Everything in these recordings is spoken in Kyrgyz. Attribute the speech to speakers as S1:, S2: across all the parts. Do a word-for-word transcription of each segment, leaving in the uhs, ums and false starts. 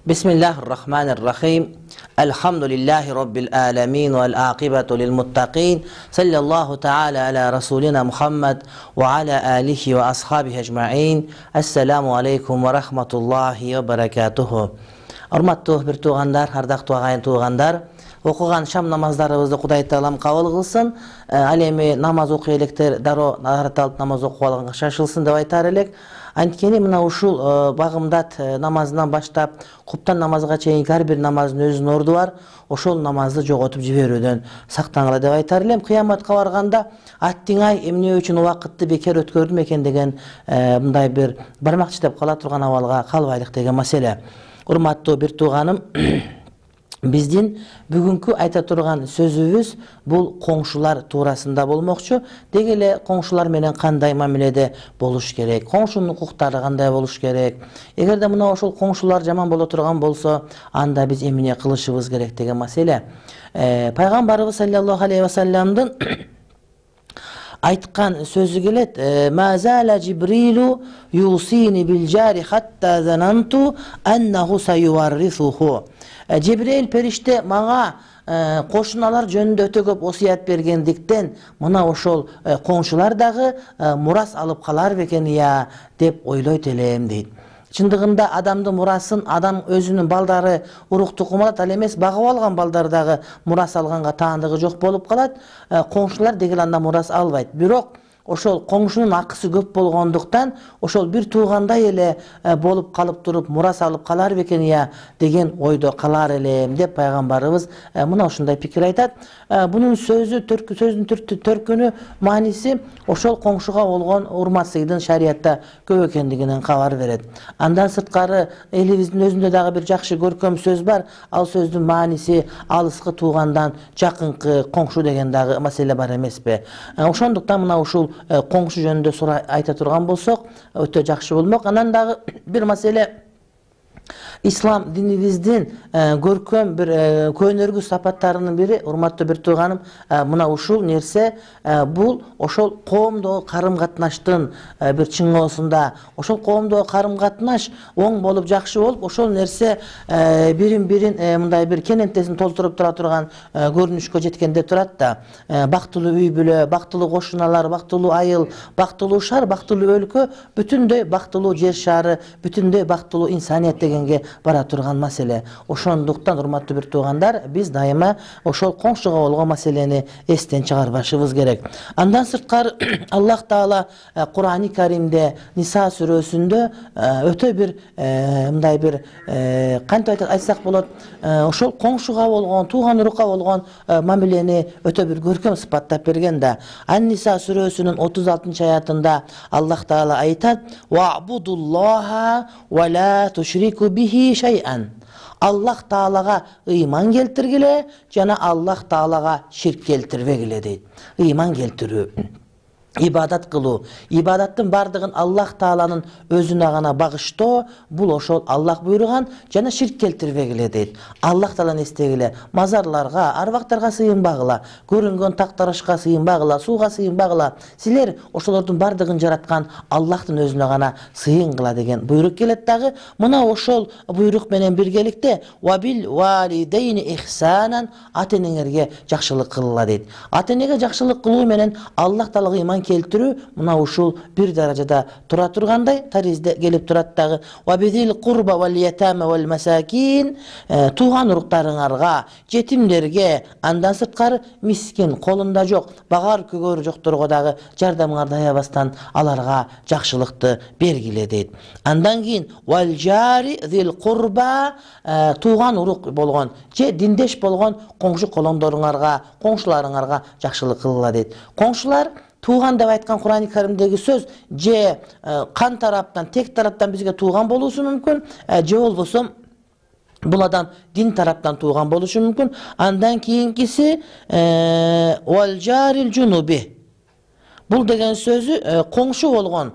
S1: Bismillahirrahmanirrahim. Elhamdülillahi Rabbil alemin vel akibatu lil muttaqin. Sallallahu ta'ala ala Rasulina Muhammed ve ala alihi ve ashabihi ecma'in. Esselamu aleykum ve rahmetullahi ve berekatuhu. Hormatly bir tuğandar, ardaqtуу agayın tuğandar, okugan şam namazlarыбызды Кудай Таалам кабыл кылсын. Ал эми намаз окуй электе дароо назарат алып намаз окуп алганга шашылсын деп айтар элек. Анткени мына ушул багымдат намазынан баштап куптан намазга чейинки ар бир намаздын өзүнүн орду бар. Ошол намазды жоготуп жиберүүдөн сактангыла деп айтар элем. Кыяматка барганда аттиң ай эмне үчүн убакытты бекер өткөрдүм экен деген мындай бир бармак тиштеп кала турган абалга калбайлык деген маселе. Урматтуу бир тууганым, биздин бүгүнкү айта турган сөзүбүз бул коңшулар туурасында болмокчу. Деги эле коңшулар менен кандай мамиледе болуш керек, коңшунун укуктары кандай болуш керек, эгерде мына ошол коңшулар жаман боло турган болсо, анда биз эмне кылышыбыз керек деген маселе. Пайгамбарыбыз саллаллаху алейхи ва салламдын айткан сөзү келет: "Мазала Жибрилу юсини бил жари хатта зананту аннаху сайюваррисуху." Жибрил периште мага кошуналар жөнүндө өтө көп осуят бергендиктен мына ошол коңшулар дагы мурас алып калар бекен ия деп ойлойт элем дейт. Чындыгында адамдын мурасын адам өзүнүн балдары урукту кумалат, ал эмес багып алган балдар дагы мурас алганга таандыгы жок болуп калат. Коңшулар дегил анда мурас албайт. Бирок ошол коңшунун акысы көп болгондуктан ошол бир туугандай эле болуп калып туруп мурас алып калар бекен ия деген ойдо калар элем деп пайгамбарыбыз мына ушундай пикир айтат. Бунун сөзү сөздүн төркүнү мааниси ошол коңшуга болгон урмат сыйдын шариятта көп экендигинен кабар берет. Андан сырткары элибиздин өзүндө дагы бир жакшы көркөм сөз бар. Ал сөздүн мааниси алыскы туугандан жакынкы коңшу деген дагы маселе бар эмеспи? Ошондуктан мына ушул коңшу жөнүндө сурай айта турган болсок өтө жакшы болмок. Анан дагы бир маселе, ислам динибиздин көркөм бир көнөргү сапаттарынын бири, урматтуу бир тууганым, мына ушул нерсе бул ошол коомдогу карым-катнаштын бир чыңоосунда, ошол коомдогу карым-катнаш оң болуп жакшы болуп, ошол нерсе бирин-бирин мындай бир кенентесин толтуруп тура турган көрүнүшкө жеткенде турат да. Бактылуу үй бүлө, бактылуу кошуналар, бактылуу айыл, бактылуу шаар, бактылуу өлкө, бүтүндөй бактылуу жер шаары, бүтүндөй бактылуу инсаният дегенге бара турган маселе. Ошондуктан урматтуу бир туугандар, биз дайыма ошол коңшуга болгон маселени эстен чыгарбашыбыз керек. Андан сырткары Аллах Таала Кур'ани Каримде Ниса сүрөсүндө өтө бир мындай бир кантип айтсак болот, ошол коңшуга болгон, тууган урукка болгон мамилени өтө бир көркөм сыпаттап берген да. Ан-Ниса сүрөсүнүн отуз алтынчы аятында Аллах Таала айтат: "Ва'будуллаха ва ла тушрику бихи шай'ан." Аллах Таалага ыйман келтиргиле жана Аллах Таалага ширк келтирбегиле дейт. Ыйман келтирүү, ибадат кылуу, ибадаттын бардыгын Аллах Тааланын өзүнө гана багыштоо, бул ошол Аллах буйруган, жана ширк келтирбегиле дейт. Аллах Тааланы эстегиле, мазарларга, арбактарга сыйынбагыла, көрүнгөн тактарашка сыйынбагыла, сууга сыйынбагыла. Силер ошолордун бардыгын жараткан Аллахтын өзүнө гана сыйынгыла деген буйрук келет дагы. Мына ошол буйрук менен биргеликте "Ва бил валидейни ихсанан", ата-энеңерге жакшылык кылгыла дейт. Ата-энеге жакшылык кылуу менен Аллах Таалага ыйман келтирүү мына ушул бир даражада тура тургандай таризде келип турат дагы. "Ва бидил курба вал ятама вал масакин", тууган уруктарыңарга, жетимдерге, андан сырткары мискин, колунда жок, багар көгөрү жокторго дагы жардамыңарды аябастан аларга жакшылыкты бергиле дейт. Андан кийин "Вал жари зил курба", тууган урук болгон же диндеш болгон коңшу колоңдоруңарга, коңшуларыңарга жакшылык кылгыла дейт. Коңшулар тууган деп айткан Кур'ани Каримдеги сөз же кан тараптан, тек тараптан бизге тууган болуусу мүмкүн, же болбосо бул адам дин тараптан тууган болушу мүмкүн. Андан кийинкиси "Вал жарил жунуби", бул деген сөзү коңшу болгон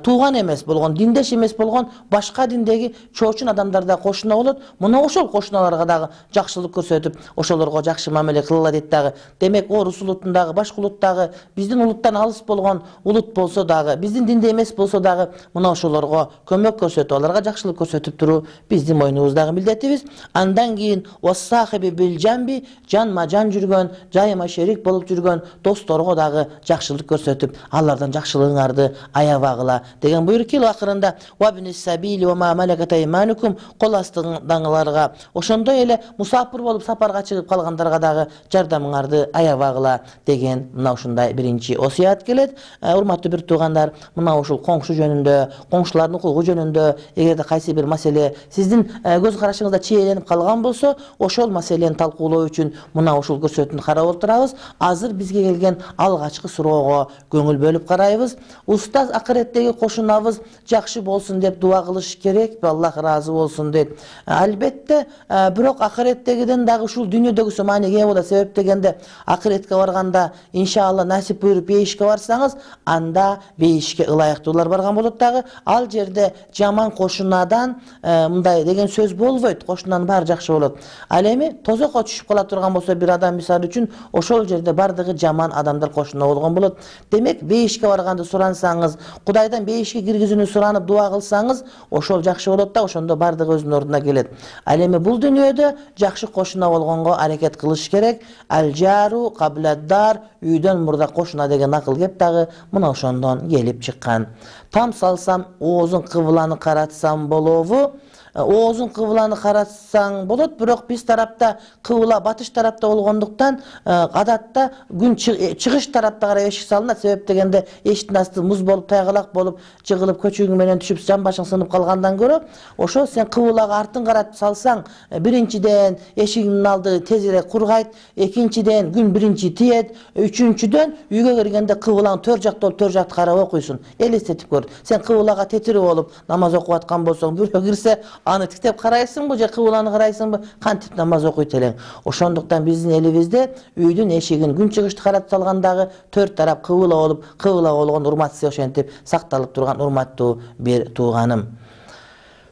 S1: тууган эмес болгон, диндеш эмес болгон башка диндеги чоочун адамдар да кошуна болот. Мына ошол кошуналарга дагы жакшылык көрсөтүп, ошолорго жакшы мамиле кылыла дейт дагы. Демек, орус улутундагы, башка улуттагы, биздин улуттан алыс болгон улут болсо дагы, биздин динде эмес болсо дагы, мына ошолорго көмөк көрсөтүп, аларга жакшылык көрсөтүп туруу биздин мойнубуздагы милдетибиз. Андан кийин вассахиби бил жамби, жанма жан жүргөн, жайыма шерик болуп жүргөн досторго дагы жакшылык көрсөтүп, алардан жакшылыгыңарды аябагыла деген буйрук кел акырында. Вабнис сабили ва ма малакат айманукум, кол астыңдагыларга, ошондой эле мусафир болуп сапарга чыгып калгандарга дагы жардамыңарды аябагыла деген мына ушундай биринчи осуят келет. Урматтуу бир туугандар, мына ушул коңшу жөнүндө, коңшулардын укугу жөнүндө эгерде кайсы бир маселе сиздин көз карашыңызда чийленип калган болсо, ошол маселени талкуулоо үчүн мына ушул көрсөтүүнү карап отурабыз. Азыр бизге келген алгачкы суроого көңүл бөлүп карайбыз. Устаз, акыреттеги кошунабыз жакшы болсун деп дуа кылыш керекпи? Аллах ыраазы болсун дейт. Албетте, бирок акыреттегиден дагы ушул дүйнөдөгүсү мааниге ээ болот. Себеп дегенде, акыретке барганда иншалла насип буйруп бейишке барсаңыз, анда бейишке ылайыктуулар барган болот дагы. Ал жерде жаман кошунадан мындай деген сөз болбойт. Кошунанын баары жакшы болот. Ал эми тозокко түшүп кала турган болсо бир адам мисалы үчүн, ошол жерде бардыгы жаман адамдар кошуна болгон болот. Демек, бейишке барганды сурансаңыз, Кудайдан бейишке киргизүүнү суранып дуа кылсаңыз, ошол жакшы болот да, ошондо бардыгы өзүнүн ордуна келет. Ал эми бул дүйнөдө жакшы кошуна болгонго аракет кылыш керек. Алжару кабладдар, үйдөн мурда кошуна деген акыл кеп дагы мына ошондон келип чыккан. Там салсам, оозун кыбыланы каратсам болобу? Оозун кыбыланы каратсаң болот, бирок биз тарапта кыбыла батыш тарапта болгондуктан адатта күн чыгыш тарапта карай эшик салынат. Себеп дегенде эшиктин асты муз болуп, тайгалак болуп, жыгылып, көчөгүң менен түшүп, жан башың сынып калгандан көрө, ошо сен кыбылага артын каратып салсаң, биринчиден эшигиңдин алды тезирээк кургайт, экинчиден күн биринчи тиет, үчүнчүдөн үйгө киргенде кыбылаң төр жакта болуп, төр жакты карап окуйсуң. Элестетип көр. Сен кыбылага тетирип болуп намаз окуп аткан болсоң, бирөө кирсе, аны тиктеп карайсыңбы же кыбыланы карайсыңбы, кантип намаз окуйт элең. Ошондуктан биздин элибизде үйдүн эшигин күн чыгышты каратып салгандагы төрт тарап кыбыла болуп, кыбыла болгон урматсы ошентип сакталып турган урматтуу бир тууганым.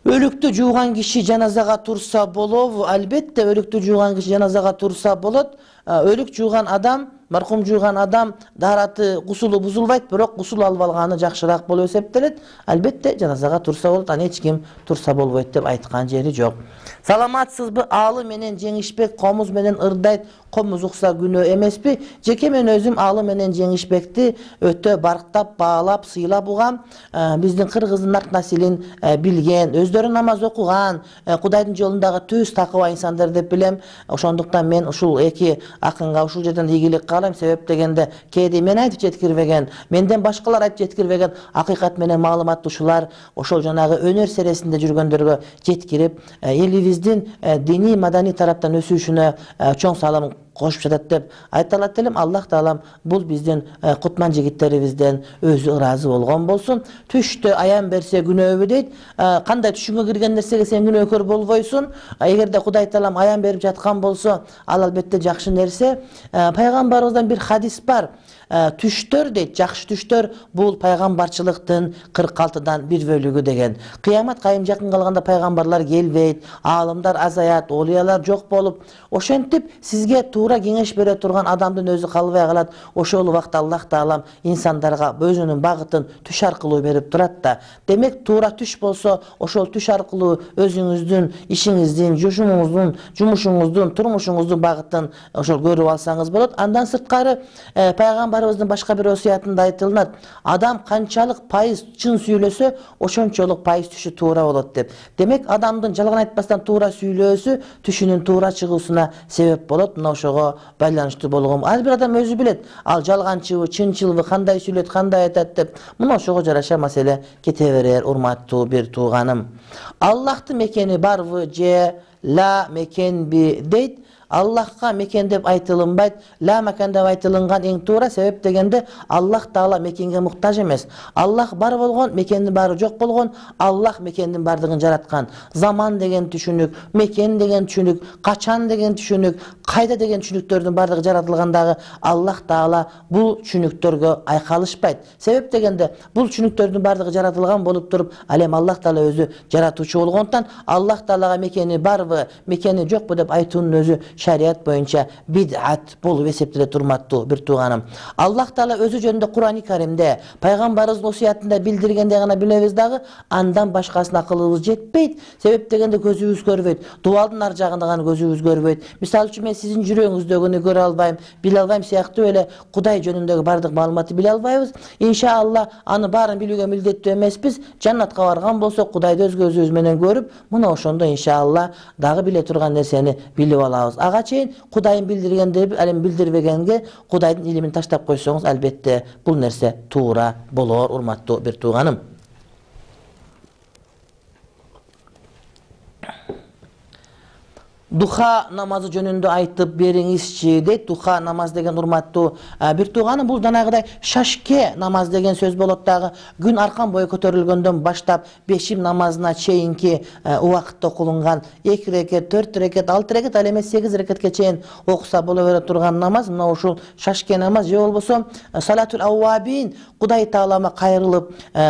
S1: Өлүктү жууган киши жаназага турса болобу? Албетте, өлүктү жууган киши жаназага турса болот. Өлүк жууган адам, маркум жууган адам даараты, гусулу бузулбайт, бирок гусул алып алганы жакшыраак болуп эсептелет. Албетте, жаназага турса болот, аны эч ким турса болбойт деп айткан жери жок. Саламатсызбы? Аалы менен жеңишбек комуз менен ырдайт, комуз укса күнөө эмеспи? Жеке мен өзүм аалы менен жеңишбекти өтө барктап, баалап, сыйлап угам. Биздин кыргыздын нарт насилин билген, өздөрү намаз окуган, Кудайдын жолундагы түз такыба инсандар деп билем. Ошондуктан мен ушул эки акынга ушул жерден ийгилик каалайм. Себеп дегенде, кээде мен айтып жеткирбеген, менден башкалар айтып жеткирбеген акыйкат менен маалыматтуушулар ошол жанагы өнөр сересинде жүргөндөргө жеткирип, элибиздин диний маданий тараптан өсүшүнө чоң салым кошуп жатат деп айта алат элем. Аллах таалам бул биздин кутман жигиттерибизден өзү ыраазы болгон болсун. Түштө аян берсе күнөөбү дейт. Кандай түшүңө кирген нерсеге сен күнөөкөр болбойсуң. Эгерде Кудай таалам аян берип жаткан болсо, ал албетте жакшы нерсе. Пайгамбарыбыздан бир хадис бар. Түштөр дейт, жакшы түштөр бул пайгамбарчылыктын кырк алтыдан бир бөлүгү деген. Кыямат кайым жакын калганда пайгамбарлар келбейт, аалымдар азаят, олиялар жок болуп, ошентип сизге туура кеңеш бере турган адамдын өзү калбай калат. Ошол убакта Аллах таалам инсандарга өзүнүн багытын түш аркылуу берип турат да. Демек, туура түш болсо, ошол түш аркылуу өзүңүздүн ишиңиздин, жумушуңуздун, жумушуңуздун, турмушуңуздун багытын ошол көрүп алсаңыз болот. Андан сырткары пайгамбарыбыздын башка бир осуятында айтылат. Адам канчалык пайыз чын сүйлөсө, ошончолук пайыз түшү туура болот деп. Демек, адамдын жалган айтпастан туура сүйлөөсү түшүнүн туура чыгуусуна себеп болот. Мына ошого байланыштуу болгон. Ар бир адам өзү билет. Ал жалганчыбы, чынчылбы, кандай сүйлөт, кандай айтат деп. Мына ошого жараша маселе кете берер, урматтуу бир тууганым. Аллахтын мекени барбы же ла мекенби дейт. Аллахка мекен деп айтылынбайт. Ла макан деп айтылынган эң туура. Себеп дегенде Аллах Таала мекенге муктаж эмес. Аллах бар болгон, мекендин баары жок болгон. Аллах мекендин бардыгын жараткан. Заман деген түшүнүк, мекен деген түшүнүк, качан деген түшүнүк, кайда деген түшүнүктөрдүн бардыгы жаратылгандагы Аллах Таала бул түшүнүктөргө айкалышпайт. Себеп дегенде бул түшүнүктөрдүн бардыгы жаратылган болуп туруп, ал эми Аллах Таала өзү жаратуучу болгондуктан Аллах Таалага мекени барбы, мекени жокпу деп айтуунун өзү шарият боюнча бид'ат болуп эсептелет урматтуу бир тууганым. Аллах Таала өзү жөнүндө Кур'ан-ы Каримде, пайгамбарыбыздын осуятында билдиргенде гана билебиз дагы, андан башкасына акылыбыз жетпейт. Себеп дегенде көзүбүз көрбөйт. Дуалдын ар жагында гана көзүбүз көрбөйт. Мисалы үчүн мен сиздин жүрөгүңүздөгүнү көрө албайм, биле албайм сыяктуу эле Кудай жөнүндөгү бардык маалыматты биле албайбыз. Иншалла аны баарын билүүгө милдеттүү эмеспиз. Жаннатка барган болсок, Кудайды өз көзүбүз менен көрүп, мына ошондо иншалла дагы биле турган нерсени билип алабыз. Ага чейин Кудайын билдиргенде, ал эми билдирбегенге Кудайдын илимин таштап койсоңуз, албетте бул нерсе туура болор, урматтуу бир тууганым. Духа намазы жөнүндө айтып бериңизчи дейт. Духа намаз деген урматтуу бир тууганым, бул жанагыдай шашке намаз деген сөз болот дагы. Күн аркан бою көтөрүлгөндөн баштап бешим намазына чейинки убакытта окулунган эки рекет, төрт рекет, алты рекет, ал эмес сегиз рекетке чейин окуса боло бере турган намаз, мына ушул шашке намаз же болбосо салатул ауабин, Кудай Таалама кайрылып,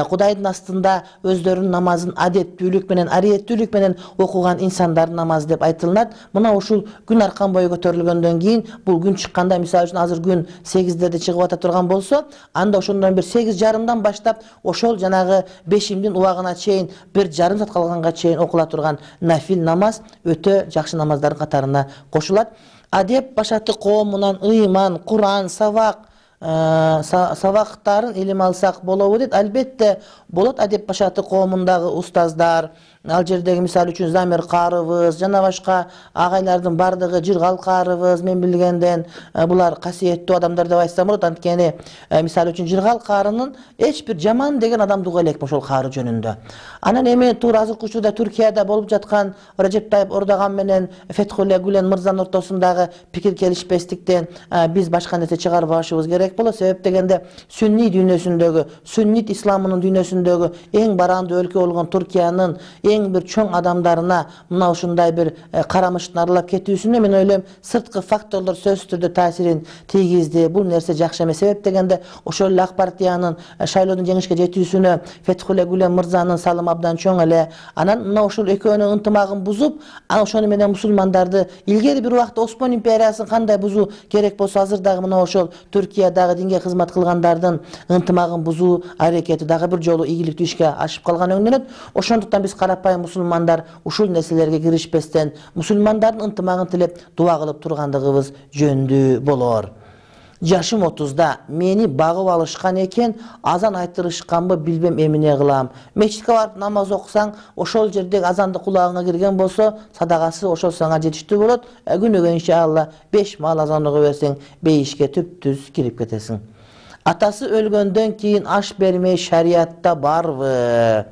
S1: Кудайдын астында өздөрүнүн намазын адеттүүлүк менен, ариеттүүлүк менен окуган инсандардын намазы деп айтылат. Мына ушул күн аркан бою көтөрүлгөндөн кийин, бул күн чыкканда, мисалы үчүн азыр күн сегиздерде чыгып ата турган болсо, анда ошондон бир сегиз жарымдан баштап ошол жанагы бешимдин убагына чейин, бир жарым саат калганга чейин окула турган нафил намаз өтө жакшы намаздардын катарына кошулат. Адеп башаты коомунан ыйман, Кур'ан, сабак сабактарын илим алсак болобу дейт. Албетте болот. Адеп башаты коомундагы устаздар, ал жердеги мисалы үчүн Замир каарыбыз, жана башка агайлардын бардыгы, Жыргал каарыбыз, мен билгенден булар касиеттүү адамдар деп айтсам болот. Анткени мисалы үчүн Жыргал каарынын эч бир жаман деген адам дуга элекпи ошол каары жөнүндө. Анан эми туура азыркы учурда Түркияда болуп жаткан Режеп Тайып Эрдоган менен Фетхулле Гүлен мырзанын ортосундагы пикир келишпестиктен биз башка нерсе чыгарбашыбыз керек болот. Себеп дегенде сүнни дүйнөсүндөгү, сүннит исламынын дүйнөсүндөгү эң барандуу өлкө болгон Түркиянын эң бир чоң адамдарына мына ушундай бир карамыштын аралап кетүүсүнө мен ойлойм сырткы факторлор сөзсүз түрдө таасирин тийгизди. Бул нерсе жакшы эмес. Себеп дегенде ошол эле Ак партиянын шайлоодон жеңишке жетүүсүнө Фетхулле Гүлен мырзанын салымы абдан чоң эле. Анан мына ушул экөөнүн ынтымагын бузуп, ошону менен мусулмандарды илгери бир убакта Осман империясын кандай бузуу керек болсо, азыр дагы мына ошол Түркиядагы динге кызмат кылгандардын ынтымагын бузуу аракети дагы бир жолу ийгиликтүү ишке ашып калган өңдөнөт. Ошондуктан биз карапайым мусулмандар ушул нерселерге киришпестен мусулмандардын ынтымагын тилеп дуа кылып тургандыгыбыз жөндүү болор. Жашым отузда мени багып алышкан экен, азан айтырышканбы билбем эмне кылам. Мечитке барып намаз окусаң, ошол жердеги азанды кулагыңа кирген болсо, садагасы ошол сага жетиштүү болот. Күнүгө иншалла беш маал азан окуп берсең, бейишке түп-түз кирип кетесиң. Атасы өлгөндөн кийин аш бермей шариятта барбы?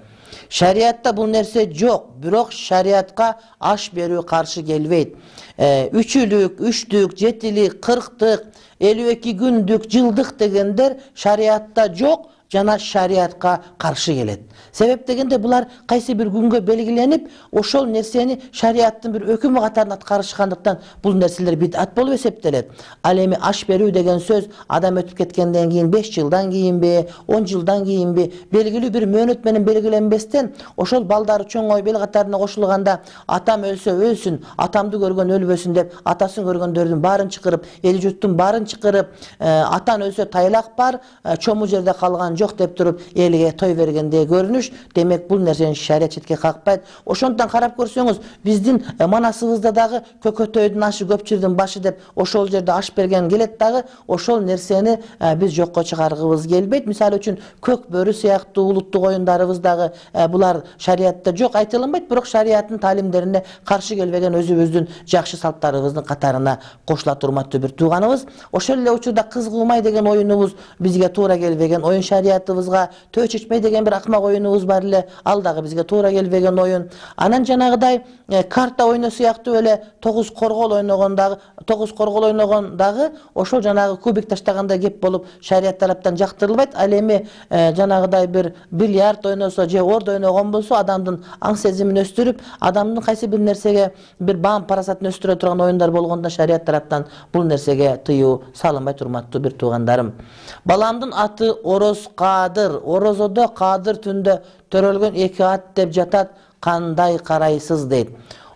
S1: Шариятта бул нерсе жок, бирок шариятка аш берүү каршы келбейт. Үчүлүк, үчтүк, жетилик, кырктык, элүү эки күндүк, жылдык дегендер шариятта жок жана шариятка каршы келет. Себеп дегенде булар кайсы бир күнгө белгиленип, ошол нерсени шариаттын бир өкүмү катарында аткарышкандыктан бул нерселер бид'ат болуп эсептелет. Ал эми аш берүү деген сөз адам өтүп кеткенден кийин беш жылдан кийинби, он жылдан кийинби белгилүү бир мөөнөт менен белгиленбестен ошол балдары чоңойуп эл катарына кошулганда атам өлсө өлсүн, атамды көргөн өлбөсүн деп атасын көргөндөрдүн баарын чакырып, эл журттун баарын чакырып, атан өлсө тайлак бар, чому жерде калган жок деп туруп элге той бергенде көрүнүш. Демек бул нерсени шарият четке какпайт. Ошондон карап көрсөңүз, биздин манасыбызда дагы көкөтөйдүн ашы көпчүлдүн башы деп ошол жерде аш берген келет дагы, ошол нерсени биз жокко чыгаргыбыз келбейт. Мисалы үчүн көк бөрү сыяктуу улуттук оюндарыбыз дагы булар шариятта жок айтылынбайт, бирок шариаттын таалимдерине каршы келбеген өзүбүздүн жакшы салттарыбыздын катарына кошулат урматтуу бир тууганыбыз. Ошол эле учурда кыз куумай деген оюнубуз бизге туура келбеген. Оюн шарият зиятыбызга төө чечмей деген бир акмак оюнубуз бар эле, ал дагы бизге туура келбеген оюн. Анан жанагыдай карта ойну сыяктуу эле тогуз коргол ойногондагы тогуз коргол ойногондагы ошол жанагы кубик таштагандай кеп болуп шарият тараптан жактырылбайт. Ал эми жанагыдай бир бильярд ойносо же ордо ойногон болсо адамдын аң сезимин өстүрүп, адамдын кайсы бир нерсеге бир баам парасатын өстүрө турган оюндар болгондо шарият тараптан бул нерсеге тыюу салынбайт, урматтуу бир туугандарым. Баламдын аты Ороз Кадыр. Орозодо Кадыр түндө төрөлгөн эки ат деп жатат. Кандай карайсыз дейт.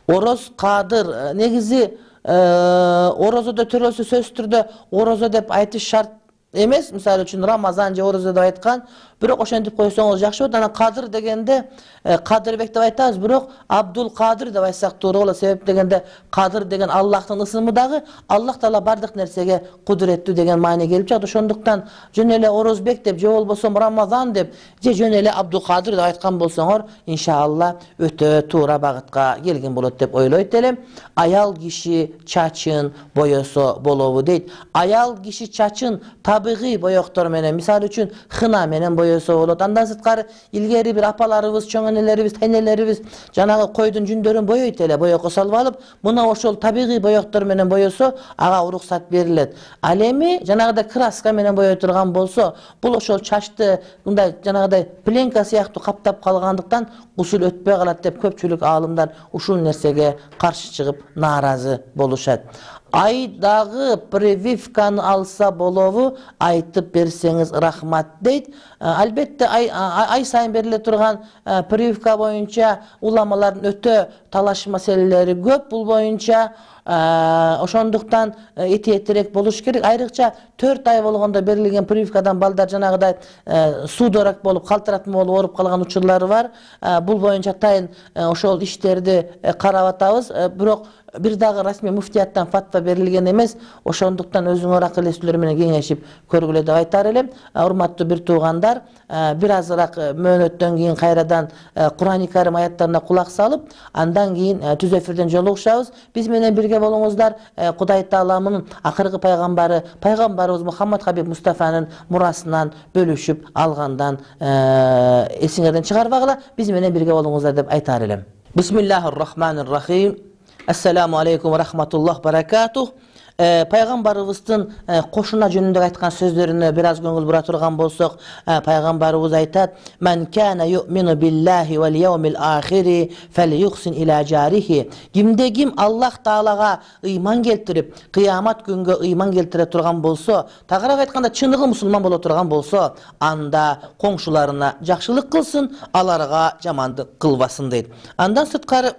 S1: Ороз Кадыр негизи орозодо төрөлсө сөзсүз түрдө орозо деп айтыш шарт эмес. Мисалы үчүн Рамазан же орозо деп айткан, бирок ошентип койсоңуз жакшы болот. Анан Кадыр дегенде Кадырбек деп айтабыз, бирок Абдул Кадыр деп айтсак туура болот. Себеп дегенде Кадыр деген Аллахтын ысымы дагы, Аллах Таала бардык нерсеге кудуреттүү деген маани келип жатат. Ошондуктан жөн эле Орозбек деп же болбосо Рамазан деп же жөн эле Абдул Кадыр деп айткан болсоңор, иншалла өтө туура багытка келген болот деп ойлойт элем. Аял киши чачын боесо болобу дейт. Аял киши чачын табигый боектор менен, мисалы үчүн хына менен боесо болот. Андан сырткары илгери бир апаларыбыз, чоң энелерибиз, тайнелерибиз жанагы койдун жүндөрүн боейт эле, боекко салып алып, мына ошол табигый боектор менен боесо, ага уруксат берилет. Ал эми жанагыдай краска менен бое турган болсо, бул ошол чачты мындай жанагыдай пленка сыяктуу каптап калгандыктан гусул өтпөй калат деп көпчүлүк аалымдар ушул нерсеге каршы чыгып нааразы болушат. Айдагы прививканы алса болобу, айтып берсеңиз рахмат дейт. Албетте ай, ай сайын бериле турган прививка боюнча уламалардын өтө талаш маселелери көп. Бул боюнча ошондуктан этиеттирээк болуш керек. Айрыкча төрт ай болгондо берилген прививкадан балдар жанагыдай судорак болуп, калтыратма болуп ооруп калган учурлары бар. Бул боюнча атайын ошол иштерди карап атабыз. Бирок бир дагы расмий муфтияттан фатва берилген эмес. Ошондуктан өзүңөр акыл эстүүлөр менен кеңешип көргүлө деп айтар элем. Урматтуу бир туугандар, бир азыраак мөөнөттөн кийин кайрадан Кур'ан-ы Карим аяттарына кулак салып, андан кийин түз эфирден жолугушабыз. Биз менен бирге болуңуздар. Кудай Тааламдын акыркы пайгамбары, пайгамбарыбыз Мухаммад Хабиб Мустафанын мурасынан бөлүшүп алгандан эсиңерден чыгарбагыла. Биз менен бирге болуңуздар деп айтар элем. Бисмиллахир-рахманир-рахим. Ассаламу алейкум ва рахматуллах баракатух. Пайгамбарыбыздын кошуна жөнүндө айткан сөздөрүнө бир аз көңүл бура турган болсок, пайгамбарыбыз айтат: "Мен кана ю'мину биллахи вал яумил ахири фалюхсин иля жарихи." Кимде ким Аллах Таалага ыйман келтирип, кыямат күнгө ыйман келтире турган болсо, тагыраак айтканда чыныгы мусулман боло турган болсо, анда коңшуларына жакшылык кылсын, аларга жамандык кылбасын дейт. Андан сырткары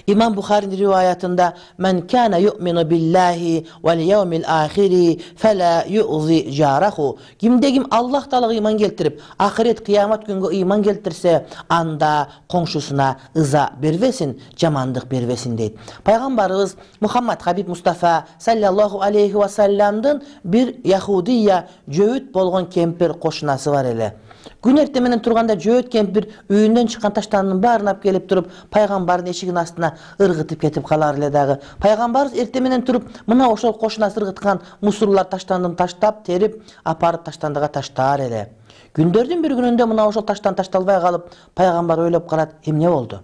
S1: İmam Bukhari'nin rivayetinde men kana yu'minu billahi vel yevmil ahiri fela yu'zi jarahu. Kimde kim Allah Teala'ga iman keltirip ahiret kıyamet günü iman keltirse anda komşusuna ıza bervesin, jamandık bervesin deydi. Peygamberimiz Muhammed Habib Mustafa sallallahu aleyhi ve sellem'den bir Yahudiya jöğüt bolgon kempir koşunası var ele. Gün ertemenen turganda jöğüt kempir үйүндөн чыккан таштандын баарын алып келип туруп, пайгамбардын эшигинин астына ыргытып кетип калар эле дагы. Пайгамбарыбыз эртеменен туруп, мына ошол кошунасы ыргыткан мусурлар таштандын таштап, терип, апарып таштандыга таштаар эле. Күндөрдүн бир күнүндө мына ошол таштан ташталбай калып, пайгамбар ойлоп калат, эмне болду?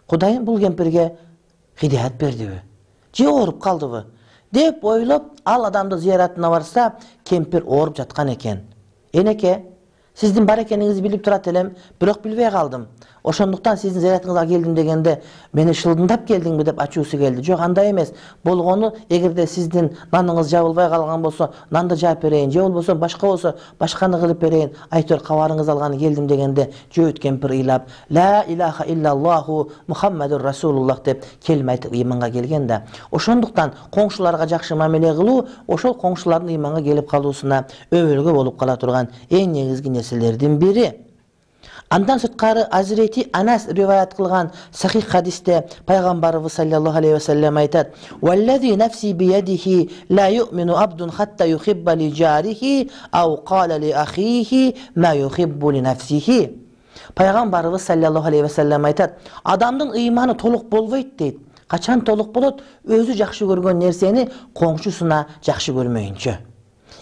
S1: Кудайым бул кемпирге хидаят бердиби? Же ооруп калдыбы? Деп ойлоп, ал адамды зияратына барса, кемпир ооруп жаткан экен. Энеке, сиздин бар экениңизди билип турат элем, бирок билбей калдым. Ошондуктан сиздин зиyaratыңызга келдим дегенде, мени шылдындап келдиңби деп ачуусу келди. Жок, андай эмес. Болгону, эгерде сиздин наныңыз жабылбай калган болсо, нанды жаап берейин, же болбосо башка болсо, башканы кылып берейин. Айтор кабарыңыз алганы келдим дегенде, jöğüt кемпир ыйлап, ла илаха иллаллаху Мухаммадур Расулуллах деп келме айтып ыйманга келген да. Ошондуктан коңшуларга жакшы мамиле кылуу, ошол коңшулардын ыйманга келип калуусуна өбөлгө болуп кала турган эң негизги нерселердин бири. Андан сырткары Азирети Анас риваят кылган сахих хадисте пайгамбарыбыз саллаллаху алейхи ва саллям айтат: "Валлази нафси биядихи ла ю'мину абдун хатта юхибба ли жарихи ау кала ли ахихи ма юхиббу ли нафсихи." Пайгамбарыбыз саллаллаху алейхи ва саллям айтат: "Адамдын ыйманы толук болбойт" дейт. Качан толук болот? Өзү жакшы көргөн нерсени коңшусуна жакшы көрмөйүнчө.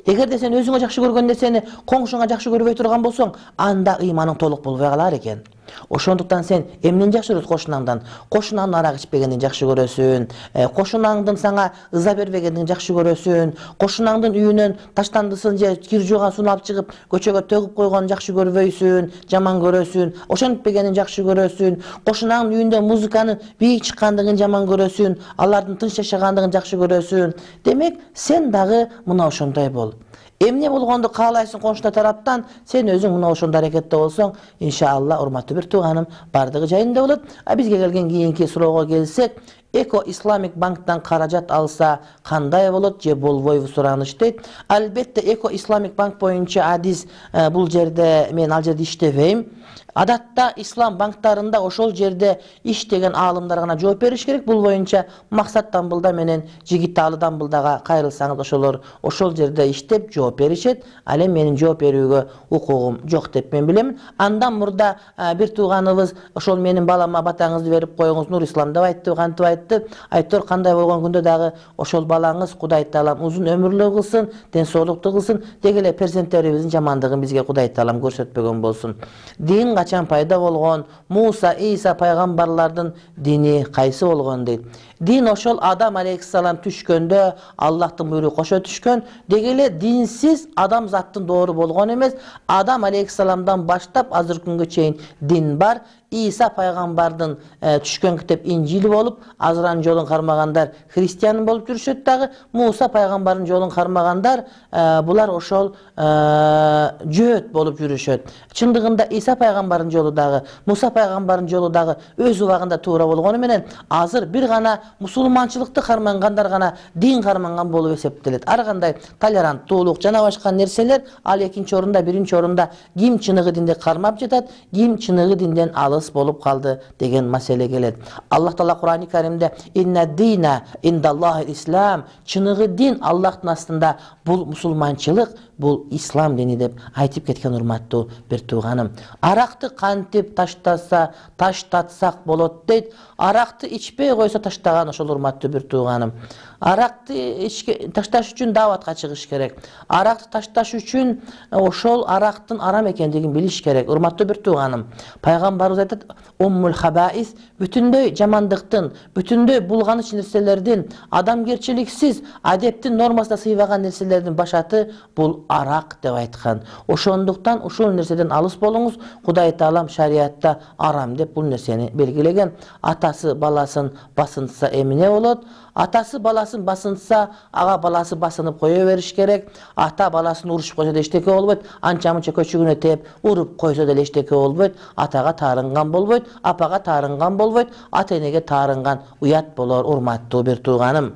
S1: Эгерде сен өзүңө жакшы көргөн нерсени коңшуңа жакшы көрбөй турган болсоң, анда ыйманың толук болбой калар экен. Ошондуктан сен эмнени жакшы көрөсүң кошунаңдан? Кошунаңдын арак ичпегенин жакшы көрөсүн, кошунаңдын сага ыза бербегенин жакшы көрөсүн, кошунаңдын үйүнөн таштандысын же кир жууган алып чыгып көчөгө төгүп койгонун жакшы көрбөйсүн, жаман көрөсүн, ошентпегенин жакшы көрөсүн, кошунаңдын үйүндө музыканын бийик чыккандыгын жаман көрөсүн, алардын тынч жашагандыгын жакшы көрөсүн. Демек, сен дагы мына ошондой бол. Эмне болгонду каалайсың коңшуна тараптан, сен өзүң мына ошондой аракетте болсоң, иншалла, урматтуу бир тууганым, бардыгы жайында болот. А бизге келген кийинки суроого келсек, Эко Исламик банктан каражат алса кандай болот же болбойбу сураныш дейт. Албетте Эко Исламик банк боюнча адис бул жерде мен ал жерде иштебейм. Адатта ислам банктарында ошол жерде иштеген аалымдар гана жооп бериш керек. Бул боюнча Максат Дамбылда менен Жигиталы Дамбылдага кайрылсаңыз, ошолор ошол жерде иштеп жооп беришет. Ал эми менин жооп берүүгө укугум жок деп мен билем. Андан мурда бир тууганыбыз ошол менин балама батаңызды берип коюңуз, Нур Ислам деп айтты, кантип айтты. Айтор кандай болгон күндө дагы ошол балаңыз Кудай Таалам узун өмүрлүү кылсын, ден соолуктуу кылсын, деги эле перзенттерибиздин жамандыгын бизге Кудай Таалам көрсөтпөгөн болсун. Дин качан пайда болгон? Муса, Иса пайгамбарлардын дини кайсы болгон дейт. Дин ошол Адам алейхиссалам түшкөндө Аллахтын буйругу кошо түшкөн. Деги эле динсиз адам заттын доору болгон эмес. Адам алейхиссаламдан баштап азыркы күнгө чейин дин бар. Иса пайгамбардын түшкөн китеп Инжил болуп, Азранын жолун кармагандар христиан болуп жүрүшөт дагы. Муса пайгамбардын жолун кармагандар булар ошол жөөт болуп жүрүшөт. Чындыгында Иса пайгамбардын жолу дагы, Муса пайгамбардын жолу дагы өз убагында туура болгону менен азыр бир гана мусулманчылыкты кармангандар гана дин карманган болуп эсептелет. Ар кандай толеранттуулук жана башка нерселер ал экинчи орунда, биринчи орунда ким чыныгы динди кармап жатат, ким чыныгы динден алыс болуп калды деген маселе келет. Аллах Таала Кур'ан-ы Каримде инна дина индаллахи ислам, чыныгы дин Аллахтын астында бул мусулманчылык, бул ислам дини деп айтып кеткен урматтуу бир тууганым. Аракты кантип таштаса, таштатсак болот дейт. Аракты ичпей койсо таштаган ошол урматтуу бир тууганым. Аракты ташташ үчүн дааватка чыгыш керек. Аракты ташташ үчүн ошол арактын арам экендигин билиш керек. Урматтуу бир тууганым, пайгамбарыбыз айтат: "Уммул хабаис", бүтүндөй жамандыктын, бүтүндөй булганыч нерселердин, адамгерчиликсиз, адептин нормасына сыйбаган нерселердин башаты бул арак деп айткан. Ошондуктан ушул нерседен алыс болуңуз. Кудай Таалам шариатта арам деп бул нерсени белгилеген. Атасы баласын басынтса эмне болот? Атасы баласын басынтса, ага баласы басынып кое бериш керек. Ата баласын урушуп койсо да эчтеке болбойт. Анча-мынча көчүгүнө тээп уруп койсо да эчтеке болбойт. Атага таарынган болбойт, апага таарынган болбойт, ата-энеге таарынган уят болор, урматтуу бир тууганым.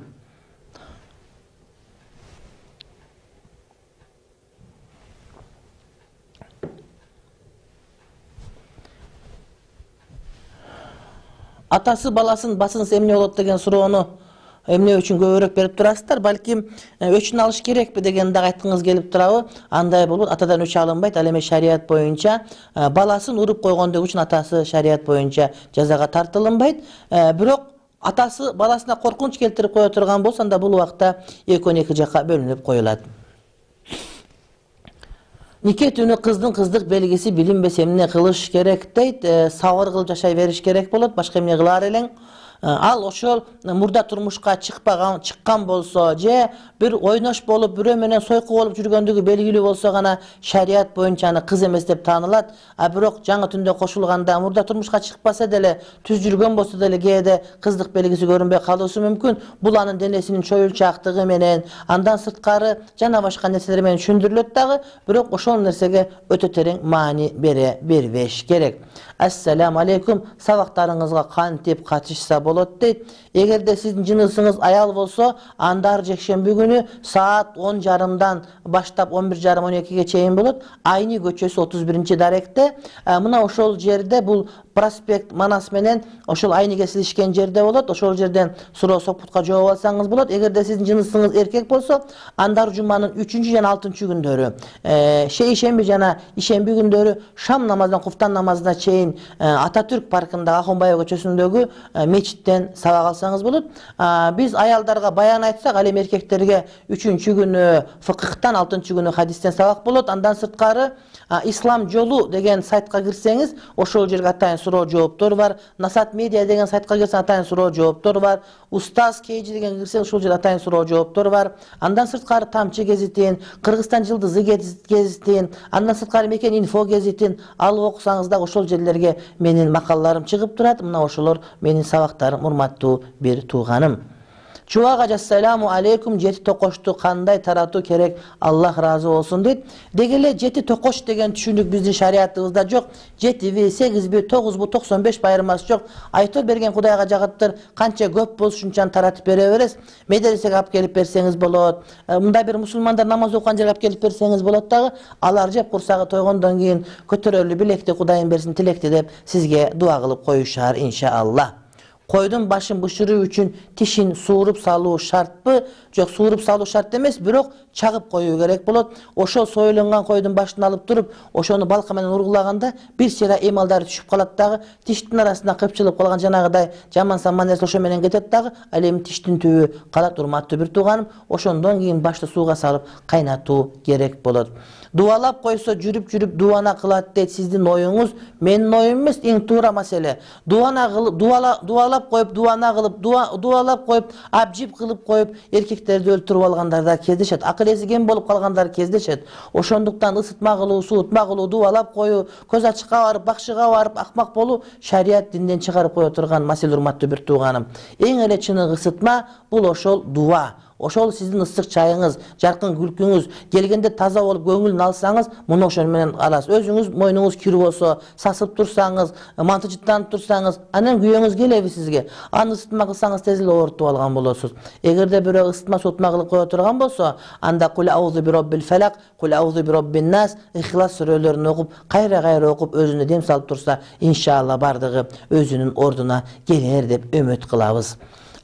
S1: Атасы баласын басынса эмне болот деген суроону эмне үчүн көбүрөөк берип турасыздар? Балким өчүн алыш керекпи деген дагы айткыңыз келип турабы? Андай болот, атадан өч алынбайт. Ал эми шарият боюнча баласын уруп койгондугу үчүн атасы шарият боюнча жазага тартылынбайт. Бирок атасы баласына коркунуч келтирип кое турган болсо, анда бул убакта экөөнү эки жакка бөлүнүп коюлат. Нике түнү кыздын кыздык белгиси билинбесе эмне кылыш керек дейт. Сабыр кылып жашай бериш керек болот, башка эмне кылаар элең? Ал ошол мурда турмушка чыкпаган, чыккан болсо же бир ойнош болуп, бирөө менен сойку болуп жүргөндүгү белгилүү болсо гана шарият боюнча аны кыз эмес деп таанылат. А бирок жаңы түндө кошулганда мурда турмушка чыкпаса деле, түз жүргөн болсо деле кээде кыздык белгиси көрүнбөй калышы мүмкүн. Бул анын денесинин чоюлчаактыгы менен, андан сырткары жана башка нерселер менен түшүндүрүлөт дагы, бирок ошол нерсеге өтө терең маани бере бербеш керек. Ассаламу алейкум, сабактарыңызга кантип катышса болот дейт. Эгерде сиздин жынысыңыз аял болсо, анда жекшемби күнү саат он жарымдан баштап он бир жарым он экиге чейин болот. Айни көчөсү отуз биринчи даректе. Мына ошол жерде бул проспект Манас менен ошол Айни кесилишкен жерде болот. Ошол жерден суроо сокпутка жооп алсаңыз болот. Эгерде сиздин жынысыңыз эркек болсо, андар жуманын үчүнчү жана алтынчы күндөрү, шейшемби жана ишемби күндөрү шам намазынан куфтан намазына чейин Ататүрк паркындагы Ахунбаев көчөсүндөгү мечит периштеден сабак алсаңыз болот. Биз аялдарга баян айтсак, ал эми эркектерге үчүнчү күнү фыкыхтан, алтынчы күнү хадистен сабак болот. Андан сырткары Ислам жолу деген сайтка кирсеңиз, ошол жерге атайын суроо жооптор бар. Насат медиа деген сайтка кирсеңиз атайын суроо жооптор бар. Устаз Кейджи деген кирсеңиз ошол жерде атайын суроо жооптор бар. Андан сырткары Тамчы гезитин, Кыргызстан жылдызы гезитин, андан сырткары Мекен инфо гезитин алып окусаңыз да ошол жерлерге менин макалаларым чыгып турат. Мына ошолор менин сабактарым, урматтуу бир тууганым. Чубак ажа, ассаламу алейкум, жети токошту кандай таратуу керек, Аллах разы болсун дейт. Деги эле жети токош деген түшүнүк биздин шариятыбызда жок. жетиби, сегизби, тогузбу, токсон беш байырмасы жок. Айтып берген Кудайга жагыптыр, канча көп болсо ушунчаны таратып бере бересиз. Медресеге алып келип берсеңиз болот. Мындай бир мусулмандар намаз окуган жерге алып келип берсеңиз болот дагы. Алар жеп курсагы тойгондон кийин көтөрөлү билекти, Кудайым берсин тилекти деп сизге дуа кылып коюшар иншаалла. Койдун башын бышыруу үчүн тишин сууруп салуу шартпы? Жок, сууруп салуу шарт эмес, бирок чагып коюу керек болот. Ошол союлунган койдун башын алып туруп, ошону балка менен ургулаганда бир сыйра эмалдары түшүп калат дагы, тиштин арасында кыпчылып калган жанагыдай жаман саман нерсе ошо менен кетет дагы, ал эми тиштин түбү калат, урматтуу бир тууганым. Ошондон кийин башты сууга салып кайнатуу керек болот. Дуалап койсо жүрүп-жүрүп дуана кылат дейт сиздин оюңуз. Менин оюм эмес, эң туура маселе. Дуана кылып, дуала дуалап коюп, дуана кылып, дуалап коюп, абжип кылып коюп, эркектерди өлтүрүп алгандар да кездешет. Акыл эси кем болуп калгандар кездешет. Ошондуктан ысытма кылуу, суутма кылуу, дуалап коюу, көз ачыкка барып, бакшыга барып акмак болуу шарият динден чыгарып кое турган маселе, урматтуу бир тууганым. Эң эле чыныгы ысытма бул ошол дуа. Ошол сиздин ысык чайыңыз, жаркын күлкүңүз, келгенде таза болуп көңүлүн алсаңыз, муну ошол менен аласыз. Өзүңүз мойнуңуз кирүү болсо, сасып турсаңыз, манты жыттанып турсаңыз, анан күйөөңүз келеби сизге? Аны ысытма кылсаңыз тез эле оорутуп алган болосуз. Эгерде бирөө ысытма сутма кылып кое турган болсо, анда кул аузу би роббил фалак, кул аузу би роббин нас, ихлас сүрөлөрүн окуп, кайра-кайра окуп өзүнө дем салып турса, иншалла бардыгы өзүнүн ордуна келер деп үмүт кылабыз.